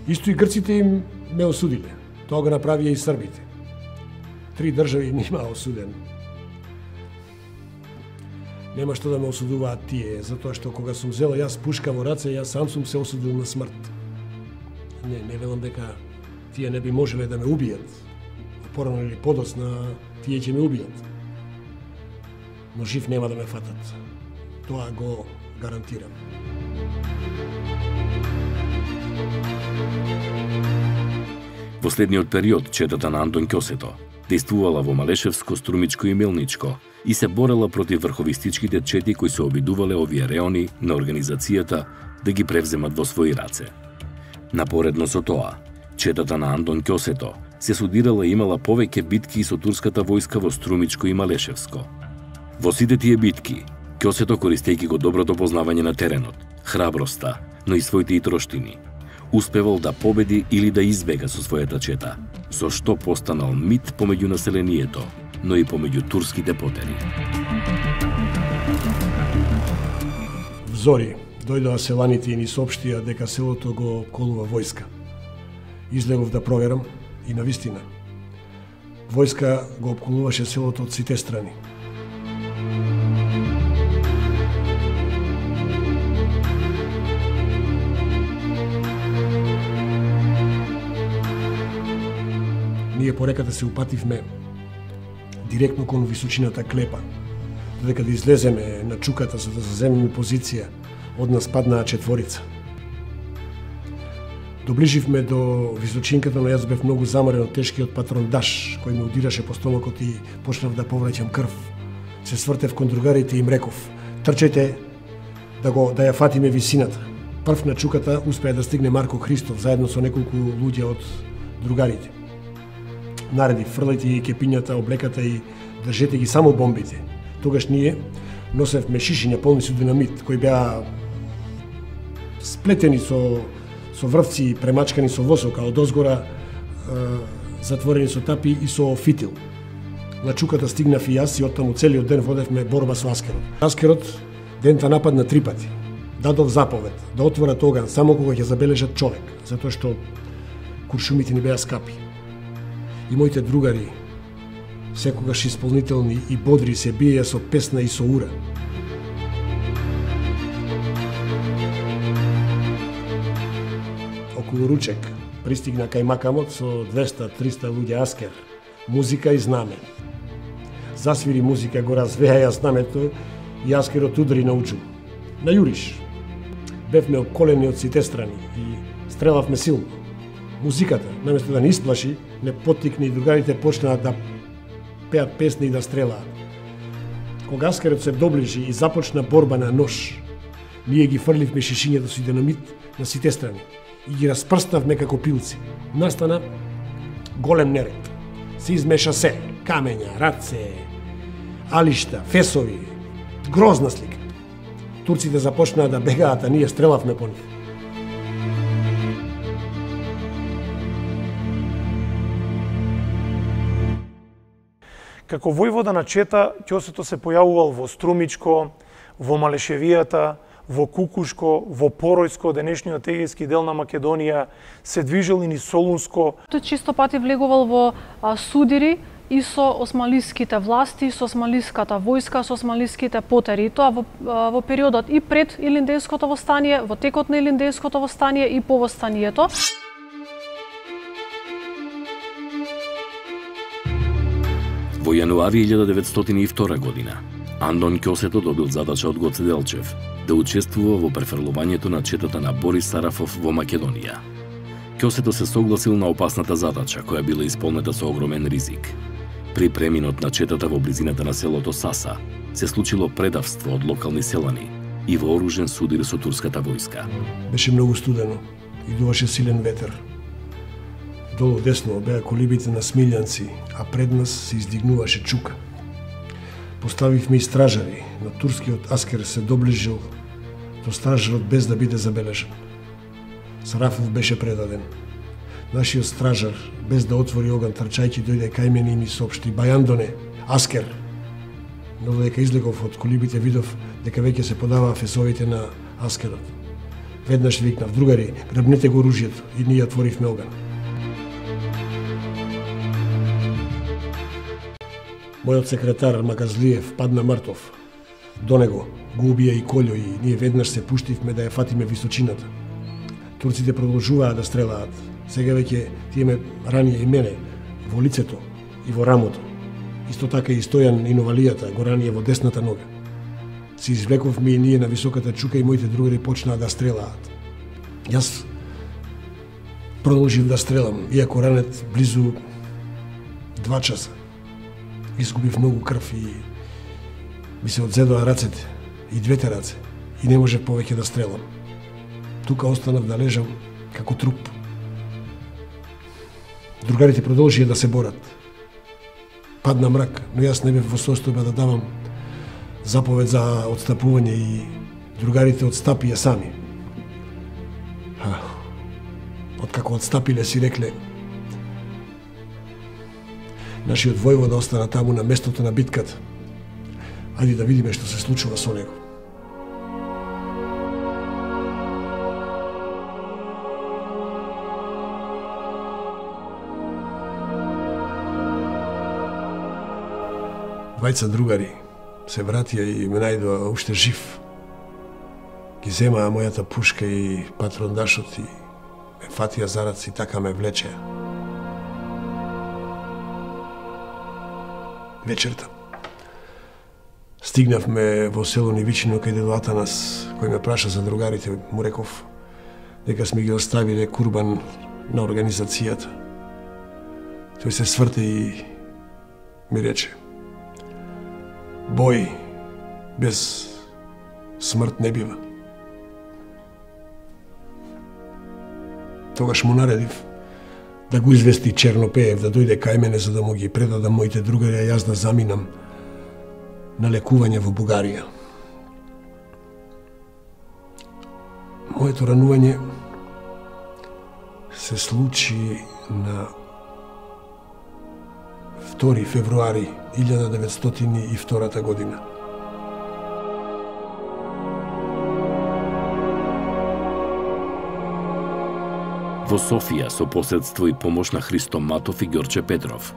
Исто и грците им ме осудиле. Тоа го направија и србите. 3 држави нима осуден. Нема што да ме осудуваат тие, затоа што кога сум взела јас пушка во раце, јас сам сум се осудил на смрт. Не велам дека тие не би можеле да ме убијат. Порано или подоцна тие ќе ме убијат. Но жив нема да ме фатат. Тоа го гарантирам. Во следниот период четата на Антон Ќосето действувала во Малешевско, Струмичко и Мелничко и се борела против врховистичките чети кои се обидувале овие реони на организацијата да ги превземат во своји раце. Напоредно со тоа, четата на Антон Ќосето се судирала и имала повеќе битки со турската војска во Струмичко и Малешевско. Во сите тие битки, Ќосето, користејќи го доброто познавање на теренот, храброста, но и своите итроштини, успевал да победи или да избега со својата чета, со што постанал мит помеѓу населението, но и помеѓу турските потери. Зори дојдоа селаните и ни соопштија дека селото го обколува војска. Излегов да проверам и навистина. Војска го обколуваше селото од сите страни. Ние пореката се упативме директно кон височината Клепа, додека да излеземе на чуката за да заземеме позиција, од нас паднаа 4. Доближивме до височинката, но јас бев многу заморен од тешкиот патрондаш кој ме удираше по стомакот и почнав да повраќам крв. Се свртев кон другарите и им реков: трчајте да ја фатиме висината. Прв на чуката успеа да стигне Марко Христов заедно со неколку луѓе од другарите. Нареди, фрлајте ги кепињата, облеката и држете ги само бомбите. Тогаш ние носевме шишиња полни со динамит, кои беа сплетени со врвци, премачкани со восока, од озгора затворени со тапи и со фитил. На чуката стигнав и јас и оттаму целиот ден водевме борба со аскерот. Аскерот дента нападна 3 пати. Дадов заповед да отворат оган само кога ќе забележат човек, затоа што куршумите ни беа скапи. И моите другари, секогаш исполнителни и бодри, се биеја со песна и со ура. Околу ручек пристигна кај Макамот со 200-300 луѓе аскер, музика и знаме. Засвири музика, го развеја знамето и аскерот удари на учу. На јуриш. Бевме околени од сите страни и стрелавме силно. Музиката, наместо да не исплаши, не поттикне и другарите почнаа да пеат песни и да стрелаат. Кога аскерот се доближи и започна борба на нож, ние ги фрливме шишињето со динамит на сите страни и ги распрснавме како пилци. Настана голем неред. Се измеша се, камења, раце, алишта, фесови, грозна слика. Турците започнаа да бегаат, а ние стрелавме по нив. Како војвода на Чета, Ќосето се појавувал во Струмичко, во Малешевијата, во Кукушко, во Поројско, денешниот егејски дел на Македонија, се движел и низ Солунско. Тој чисто пати влегувал во судири и со османлиските власти, со османлиската војска, со османлиските потери. Тоа во периодот и пред Илиндејското востание, во текот на Илиндејското востание и по востанието. Во јануари 1902 година, Андон Ќосето добил задача од Гоце Делчев да учествува во префрлувањето на четата на Борис Сарафов во Македонија. Ќосето се согласил на опасната задача, која била исполнета со огромен ризик. При преминот на четата во близината на селото Саса, се случило предавство од локални селани и вооружен судир со турската војска. Беше многу студено и дуваше силен ветер. Долу десно беа колибите на Смилјанци, а пред нас се издигнуваше чука. Поставивме и стражари, но турскиот аскер се доближил до стражарот без да биде забележен. Сарафов беше предаден. Нашиот стражар, без да отвори оган, трчајќи дојде кај мене и ми соопшти: "Бајандоне, аскер!" Но додека излегов од колибите, видов дека веќе се подаваа фесовите на аскерот. Веднаш викнав: "Другари, грабнете го оружјето", и ние отворивме оган. Мојот секретар Маказлиев падна мртов. До него го убија и Колјо и ние веднаш се пуштивме да ја фатиме височината. Турците продолжуваа да стрелаат. Сега веќе тие ме ранија и мене во лицето и во рамото. Исто така и Стојан и Новалијата го ранија во десната нога. Се извлековме и ние на високата чука и моите другари почнаа да стрелаат. Јас продолжив да стрелам, иако ранет близу 2 часа. Изгубив многу крв и ми се одзедоа рацете, и двете раце, и не можев повеќе да стрелам. Тука останав да лежам како труп. Другарите продолжија да се борат. Падна мрак, но јас не бев во состојба да давам заповед за отстапување и другарите отстапија сами. Откако отстапиле си рекле: "Нашиот војвода остана таму на местото на битката. Ајде да видиме што се случува со него." Двајца другари се вратија и ме најдоа уште жив. Ги земаа мојата пушка и патрондашот и ме фатија за раце и така ме влечеа. Вечерта стигнавме во село Нивичино кај дедо Атанас, кој ме праша за другарите. Му реков дека сме ги оставиле курбан на организацијата. Тој се сврте и ми рече: "Бој без смрт не бива." Тогаш му наредив да го извести Чернопеев да дојде кај мене за да му ги предадам моите другари, а јас да заминам на лекување во Бугарија. Моето ранување се случи на 2 февруари 1902 година. Во Во Софија, со посредство и помош на Христо Матов и Ѓорче Петров,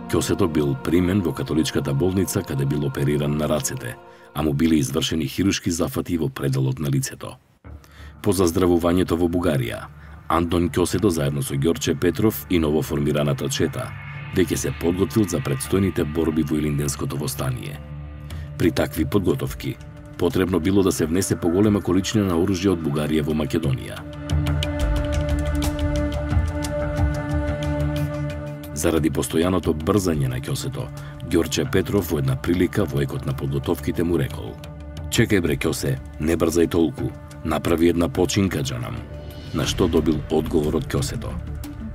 Ќосето бил примен во католичката болница каде бил опериран на рацете, а му биле извршени хируршки зафати во пределот на лицето. По заздравувањето во Бугарија, Антон Ќосето заедно со Ѓорче Петров и новоформираната чета веќе се подготвил за предстојните борби во Илинденското востание. При такви подготовки, потребно било да се внесе поголема количина на оружје од Бугарија во Македонија. Заради постојаното брзање на Ќосето, Ѓорче Петров во една прилика во екот на подготовките му рекол: "Чекај бре Ќосе, не брзај толку, направи една починка џанам." На што добил одговор од Ќосето: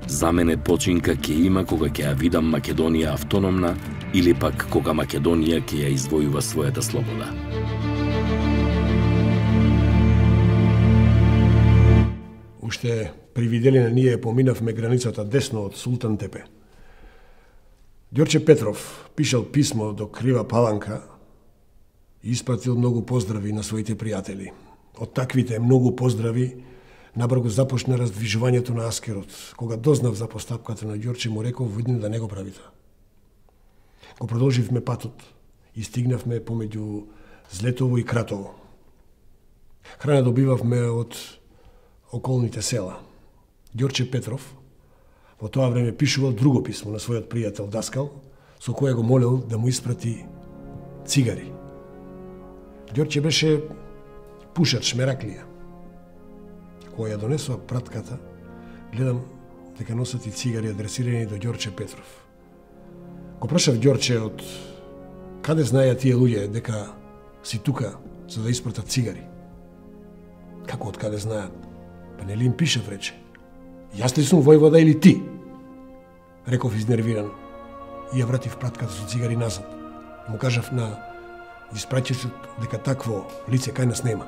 "За мене починка ќе има кога ќе ја видам Македонија автономна или пак кога Македонија ќе ја извојува својата слобода." Уште при Виделина ние поминавме границата десно од Султан Тепе. Ѓорче Петров пишал писмо до Крива Паланка и испратил многу поздрави на своите пријатели. Од таквите многу поздрави набрзо започна раздвижувањето на Аскерот. Кога дознав за постапката на Ѓорче, му реков видно да не го правите. Го продолживме патот и стигнавме помеѓу Злетово и Кратово. Храна добивавме од околните села. Ѓорче Петров во тоа време пишувал друго писмо на својот пријател Даскал, со кое го молел да му испрати цигари. Ѓорче беше пушач, мераклија. Кога ја донесува пратката, гледам дека носат и цигари адресирани до Ѓорче Петров. Го прашав Ѓорче од каде знаеа тие луѓе дека си тука за да испратат цигари. Како од каде знаат? Па нели им пишав, рече. Јас ли сум војвода или ти? Реков изнервиран и ја вратив пратката со цигари назад. Му кажав на испраќачот дека такво лице кај нас нема.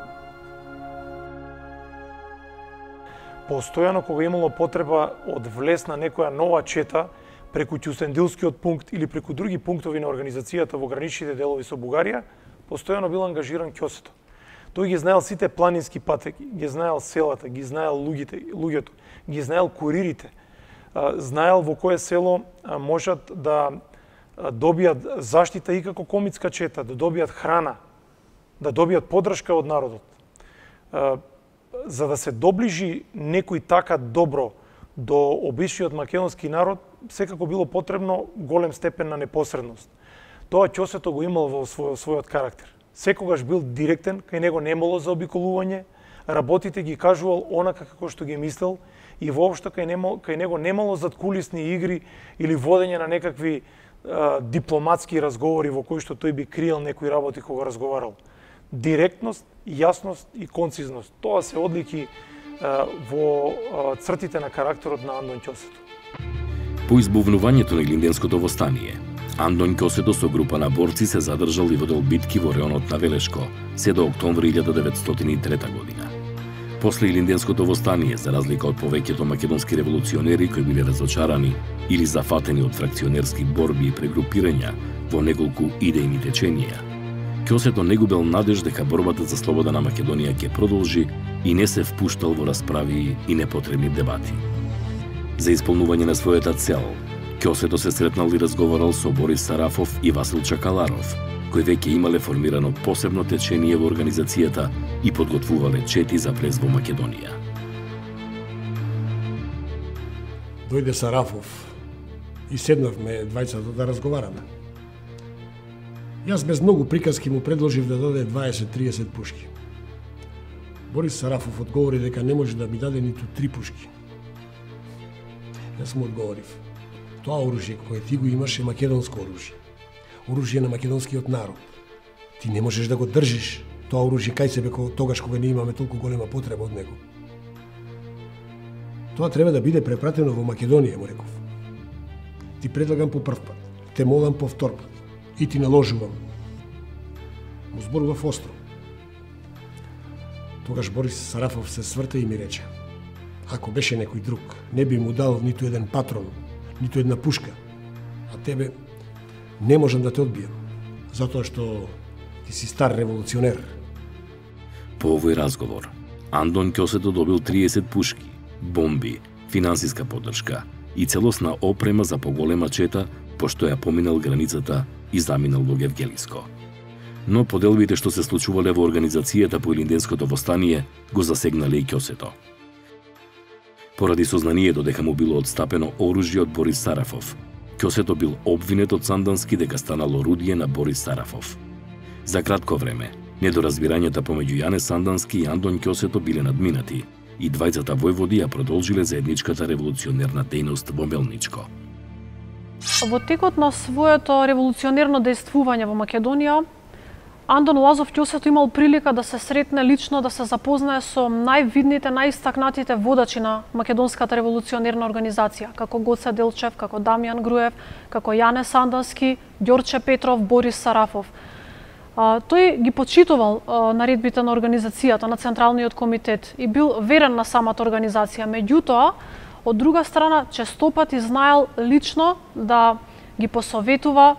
Постојано кога имало потреба од влез на некоја нова чета преку Ќусендилскиот пункт или преку други пунктови на организацијата во граничните делови со Бугарија, постојано бил ангажиран Ќосето. Тој ги знаел сите планински патеки, ги знаел селата, ги знаел луѓето, ги знаел куририте, знаел во кое село можат да добијат заштита и како комитска чета, да добијат храна, да добијат поддршка од народот. За да се доближи некој така добро до обичниот македонски народ, секако било потребно голем степен на непосредност. Тоа Ќосето го имал во својот карактер. Секогаш бил директен, кај него немало заобиколување, работите ги кажувал онака како што ги мислел и воопшто кај него немало задкулисни игри или водење на некакви дипломатски разговори во кои што тој би криел некои работи кога разговарал. Директност, јасност и концизност. Тоа се одлики во цртите на карактерот на Антон Ќосето. По избувнувањето на Илинденското востание, Антон Ќосето со група на борци се задржал и водел битки во реонот на Велешко се до октомври 1903 година. После Илинденското востание, за разлика од повеќето македонски револуционери кои биле разочарани или зафатени од фракционерски борби и прегрупирања во неколку идејни теченија, Ќосето не губел надеж дека борбата за слобода на Македонија ќе продолжи и не се впуштал во расправи и непотребни дебати. За исполнување на својата цел, Ќосето се сретнал и разговарал со Борис Сарафов и Васил Чакаларов, кои веќе имале формирано посебно течение во организацијата и подготвувале чети за влез во Македонија. Дојде Сарафов и седнавме двајцата да разговараме. Јас без многу приказки му предложив да даде 20-30 пушки. Борис Сарафов одговори дека не може да ми даде ниту 3 пушки. Јас му одговорив: тоа оружје кое ти го имаш е македонско оружје. Оружје на македонскиот народ. Ти не можеш да го држиш тоа оружје кај себе тогаш кога не имаме толку голема потреба од него. Тоа треба да биде препратено во Македонија, му реков. Ти предлагам по прв пат, те молам по втор пат и ти наложувам. Му зборував остро. Тогаш Борис Сарафов се сврта и ми рече: ако беше некој друг, не би му дал ниту еден патрон, ниту една пушка, а тебе не можам да те одбијам, затоа што ти си стар револуционер. По овој разговор, Антон Ќосето добил 30 пушки, бомби финансиска поддршка и целосна опрема за поголема чета, пошто ја поминал границата и заминал во Гевгелиско. Но поделбите што се случувале во организацијата по Илинденското востание го засегнале и Ќосето. Поради сознанието дека му било отстапено оружје од Борис Сарафов, Ќосето бил обвинет од Сандански дека станал орудие на Борис Сарафов. За кратко време, недоразбирањата помеѓу Јане Сандански и Андон Ќосето биле надминати и двајцата војводи ја продолжиле заедничката револуционерна дејност во Мелничко. Во текот на своето револуционерно дејствување во Македонија, Андон Лазов Ќосето имал прилика да се сретне лично, да се запознае со највидните, најистакнатите водачи на Македонската револуционерна организација, како Гоце Делчев, како Дамјан Груев, како Јане Сандански, Ѓорче Петров, Борис Сарафов. Тој ги почитувал наредбите на организацијата, на Централниот комитет и бил верен на самата организација. Меѓутоа, од друга страна, честопати знаел лично да ги посоветува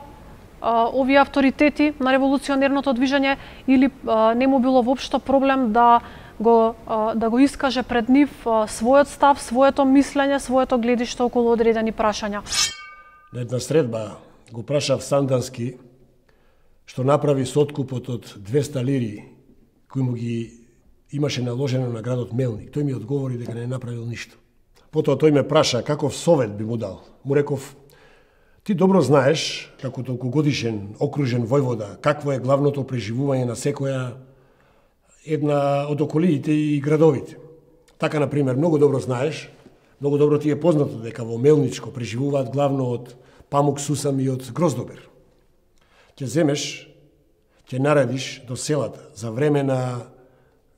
овие авторитети на револуционерното движење или не му било воопшто проблем да го искаже пред нив својот став, своето мислење, своето гледиште околу одредени прашања. На една средба го прашав Сандански што направи со откупот од 200 лири кој му ги имаше наложено на градот Мелник. Тој ми одговори дека не направил ништо. Потоа тој ме праша каков совет би му дал. Му реков: ти добро знаеш, како толкогодишен окружен војвода, какво е главното преживување на секоја една од околиите и градовите. Така, например, многу добро знаеш, многу добро ти е познато дека во Мелничко преживуваат главно од памук, сусам и од гроздобер. Ќе земеш, ќе наредиш до селата за време на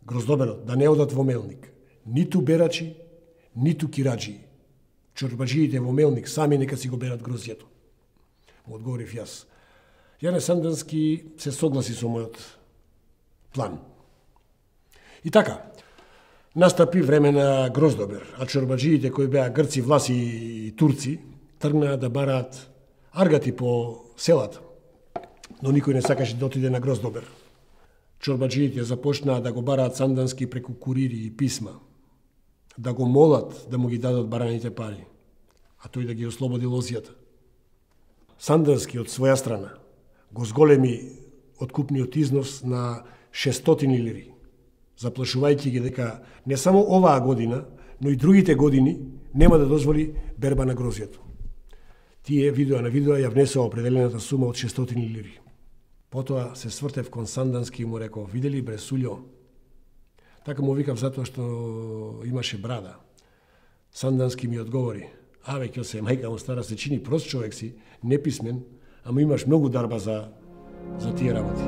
гроздоберот да не одат во Мелник. Ниту берачи, ниту кираджи. Чорбаджиите во Мелник сами нека си го берат гроздјето. Му одговорив јас. Јане Сандански се согласи со мојот план. И така, настапи време на гроздобер, а чорбаджиите кои беа грци, власи и турци тргнаа да бараат аргати по селата. Но никој не сакаше да отиде на гроздобер. Чорбаджиите започнаа да го бараат Сандански преку курири и писма, да го молат да му ги дадат бараните пари, а тој да ги ослободи лозијата. Сандански од своја страна го зголеми откупниот износ на 600 лири, заплашувајќи ги дека не само оваа година, но и другите години нема да дозволи берба на грозјето. Тие видео на видео ја внесува определената сума од 600 лири. Потоа се свртев кон Сандански и му реков: видели бре Сулјо? Така му викав затоа што имаше брада. Сандански ми одговори: аве, Ќосе, мајка му стара, се чини прост човек си, неписмен, ама имаш многу дарба за тие работи.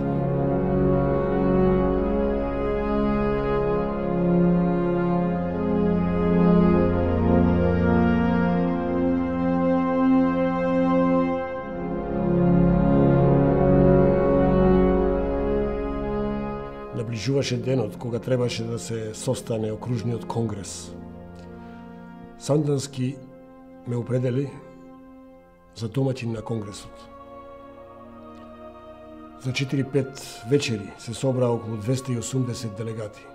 Наближуваше денот кога требаше да се состане окружниот конгрес. Сандански ме определи за домаќин на конгресот. За 4-5 вечери се собра околу 280 делегати.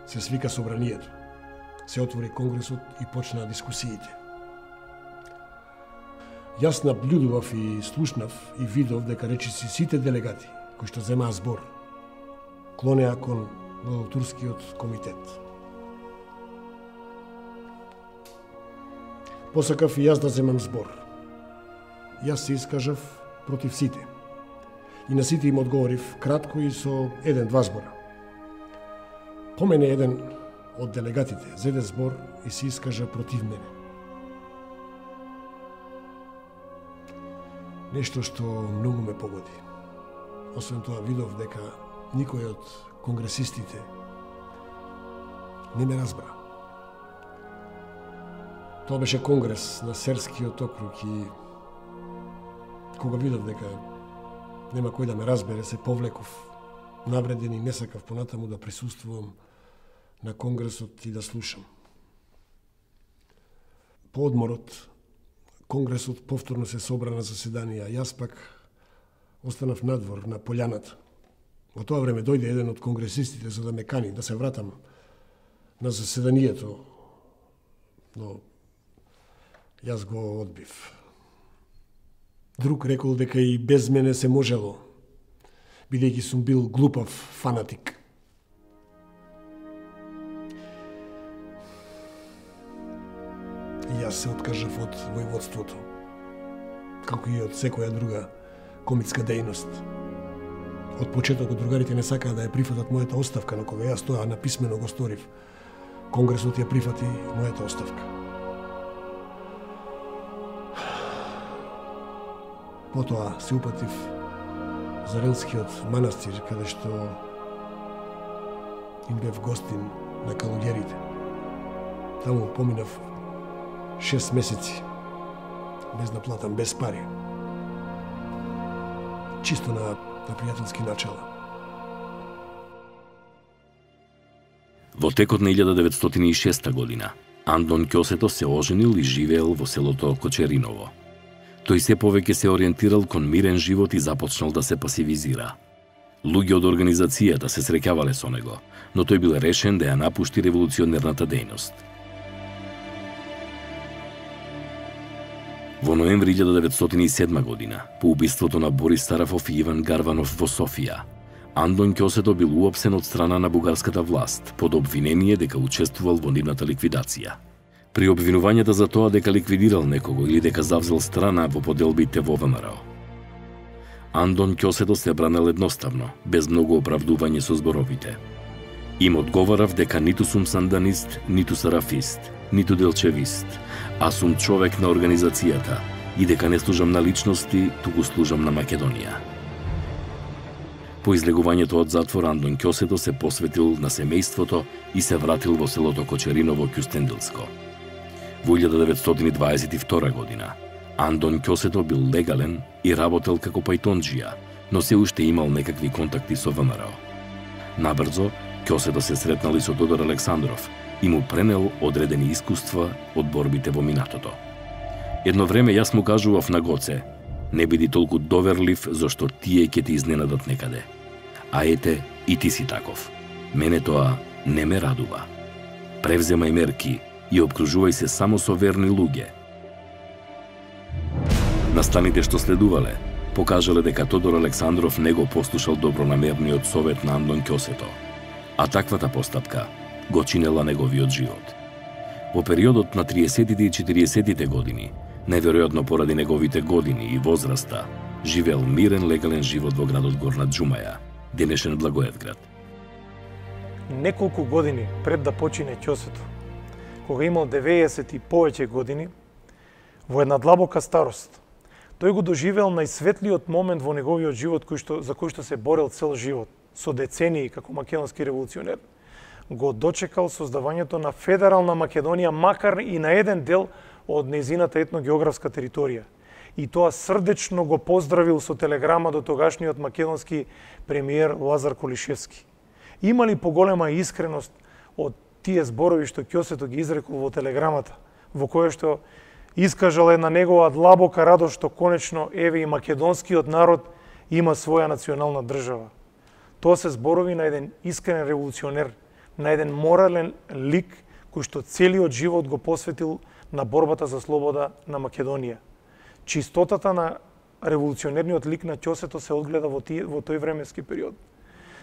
Се свика собранието. Се отвори конгресот и почнаа дискусиите. Јас наблюдував и слушнав и видов дека речиси сите делегати кои што земаа збор клонеа кон Турскиот комитет. Посакав и јас да земам збор. Јас се искажав против сите. И на сите им одговорив кратко и со 1-2 збора. По мене еден од делегатите зеде збор и се искажа против мене. Нешто што многу ме погоди. Освен тоа видов дека никој од конгресистите не ме разбра. Тоа беше конгрес на Серскиот округ и кога видов дека нема кој да ме разбере, се повлеков навреден и не сакав понатаму да присуствувам на конгресот и да слушам. По одморот, конгресот повторно се собра на заседанија, јас пак останав надвор на полјаната. Во тоа време дојде еден од конгресистите за да ме кани да се вратам на заседанието Но јас го одбив. Друг рекол дека и без мене се можело, бидејќи сум бил глупав фанатик. И јас се откажав од војводството, како и од секоја друга комитска дејност. Од почетокот другарите не сакаа да ја прифатат мојата оставка, но кога јас тоа написмено го сторив, Конгресот ја прифати мојата оставка. Потоа се упатив за Рилскиот манастир, каде што им бев гостин на калуѓерите. Таму поминав 6 месеци, без да платам, без пари. Чисто на пријателски начала. Во текот на 1906 година, Андон Ќосето се оженил и живеел во селото Кочериново. Тој се повеќе се ориентирал кон мирен живот и започнал да се пасивизира. Луѓе од организацијата се среќавале со него, но тој бил решен да ја напушти револуционерната дејност. Во ноември 1907 година, по убиството на Борис Сарафов и Иван Гарванов во Софија, Андон Ќосето бил уапсен од страна на бугарската власт под обвинение дека учествувал во нивната ликвидација. При обвинувањата за тоа дека ликвидирал некого или дека завзел страна во поделбите во ВМРО, Андон Ќосето се бранел едноставно, без многу оправдување со зборовите. Им одговарав дека ниту сум санданист, ниту сарафист, ниту делчевист, а сум човек на организацијата и дека не служам на личности, туку служам на Македонија. По излегувањето од затвор, Андон Ќосето се посветил на семејството и се вратил во селото Кочериново, Кюстендилско. Во 1922 година, Андон Ќосето бил легален и работел како пајтонџија, но се уште имал некакви контакти со ВМРО. Набрзо, Ќосето се сретнал и со Тодор Александров и му пренел одредени искуства од борбите во минатото. Едно време јас му кажував на Гоце: не биди толку доверлив, зашто тие ќе ти изненадат некаде. А ете, и ти си таков. Мене тоа не ме радува. Превземај мерки и обкружувај се само со верни луѓе. Настаните што следувале покажале дека Тодор Александров не го послушал добронамерниот совет на Андон Ќосето, а таквата постапка го чинела неговиот живот. Во периодот на 30-тите и 40-тите години, неверојатно поради неговите години и возраста, живеел мирен легален живот во градот Горна Џумаја, денешен Благоевград. Неколку години пред да почине Ќосето, кога имал 90 и повеќе години, во една длабока старост, тој го доживеал најсветлиот момент во неговиот живот за кој што се борел цел живот, со децении како македонски револуционер. Го дочекал создавањето на федерална Македонија, макар и на еден дел од нејзината етногеографска територија. И тоа срдечно го поздравил со телеграма до тогашниот македонски премиер Лазар Колишевски. Има ли поголема искреност од тие зборови што Ќосето ги изрекол во телеграмата, во која што искажал една негова длабока радост што конечно еве и македонскиот народ има своја национална држава. Тоа се зборови на еден искрен револуционер, на еден морален лик кој што целиот живот го посветил на борбата за слобода на Македонија. Чистотата на револуционерниот лик на Ќосето се одгледа во тој временски период.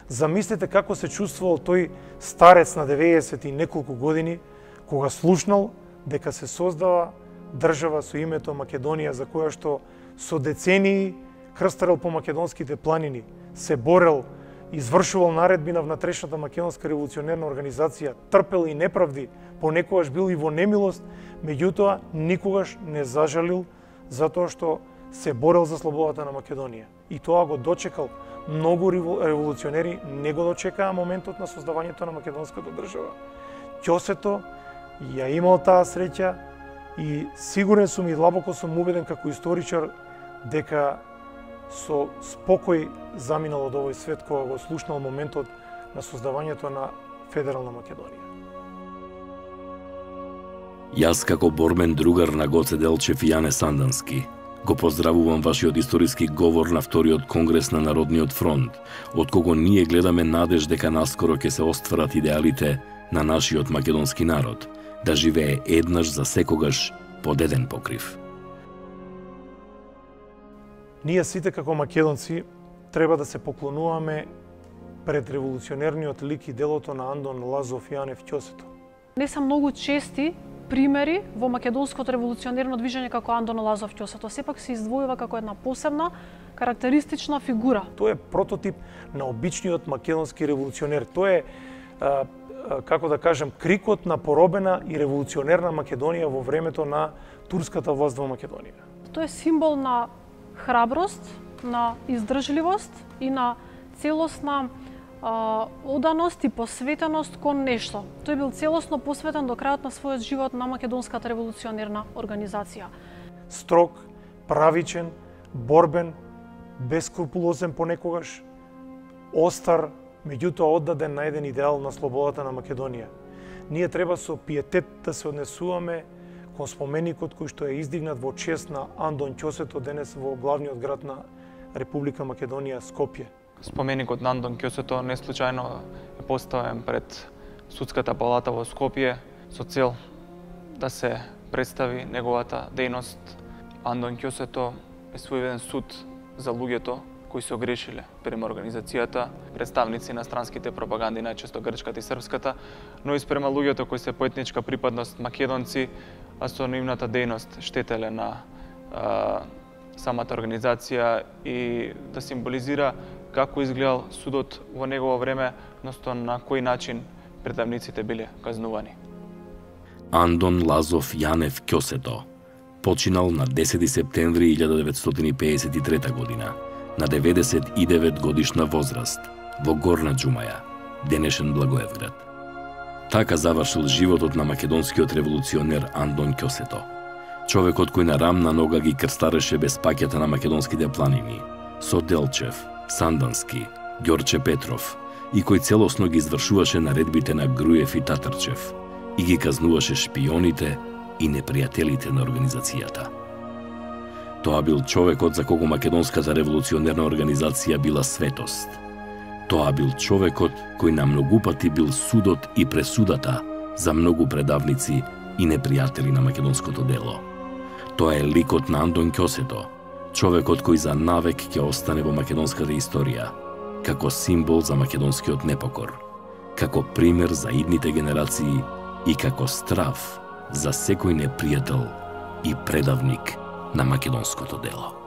Замислете како се чувствувал тој старец на 90 и неколку години, кога слушнал дека се создава држава со името Македонија, за која што со децении крстарел по македонските планини, се борел, извршувал наредби на внатрешната македонска револуционерна организација, трпел и неправди, понекогаш бил и во немилост, меѓутоа никогаш не зажалил затоа што се борел за слободата на Македонија. И тоа го дочекал. Многу револуционери не го дочекаа моментот на создавањето на македонската држава. Ќосето ја имал таа среќа и сигурен сум и длабоко сум убеден како историчар дека со спокој заминал од овој свет кога го слушнал моментот на создавањето на федерална Македонија. Јас како борбен другар на Гоце Делчев и Јане Сандански го поздравувам вашиот историски говор на вториот конгрес на Народниот фронт, од кого ние гледаме надеж дека наскоро ќе се остварат идеалите на нашиот македонски народ, да живее еднаш за секогаш под еден покрив. Ние сите како македонци треба да се поклонуваме пред револуционерниот лик и делото на Андон Лазов Јанев Ќосето. Не се многу чести примери во македонското револуционерно движење како Андон Лазов Ќосето. Сепак се издвојува како една посебна, карактеристична фигура. Тој е прототип на обичниот македонски револуционер. Тој е, како да кажем, крикот на поробена и револуционерна Македонија во времето на турската власт во Македонија. Тој е символ на храброст, на издржливост и на целосна оданост и посветеност кон нешто. Тој бил целосно посветен до крајот на својот живот на македонската револуционерна организација. Строг, правичен, борбен, бескрупулозен понекогаш, остар, меѓутоа оддаден на еден идеал на слободата на Македонија. Ние треба со пиетет да се однесуваме кон споменикот кој што е издигнат во чест на Андон Ќосето денес во главниот град на Република Македонија, Скопје. Споменикот на Андон Ќосето не случајно е поставен пред судската палата во Скопје со цел да се представи неговата дејност. Андон Ќосето е своевиден суд за луѓето кои се огрешиле према организацијата, представници на странските пропаганди, најчесто грчката и српската, но и спрема луѓето кои се по етничка припадност македонци, а со нивната дејност штетеле на самата организација и да символизира како изгледал судот во негово време, односно на кој начин предавниците биле казнувани. Андон Лазов Јанев Ќосето починал на 10 септември 1953 година, на 99 годишна возраст, во Горна Џумаја, денешен Благоевград. Така завршил животот на македонскиот револуционер Андон Ќосето, човекот кој на рамна нога ги крстареше безпаќата на македонските планини, со Делчев, Сандански, Ѓорче Петров, и кој целосно ги извршуваше наредбите на Груев и Татарчев и ги казнуваше шпионите и непријателите на организацијата. Тоа бил човекот за кого македонската револуционерна организација била светост. Тоа бил човекот кој на многу пати бил судот и пресудата за многу предавници и непријатели на македонското дело. Тоа е ликот на Андон Ќосето, човекот кој за навек ќе остане во македонската историја, како символ за македонскиот непокор, како пример за идните генерации и како страв за секој непријател и предавник на македонското дело.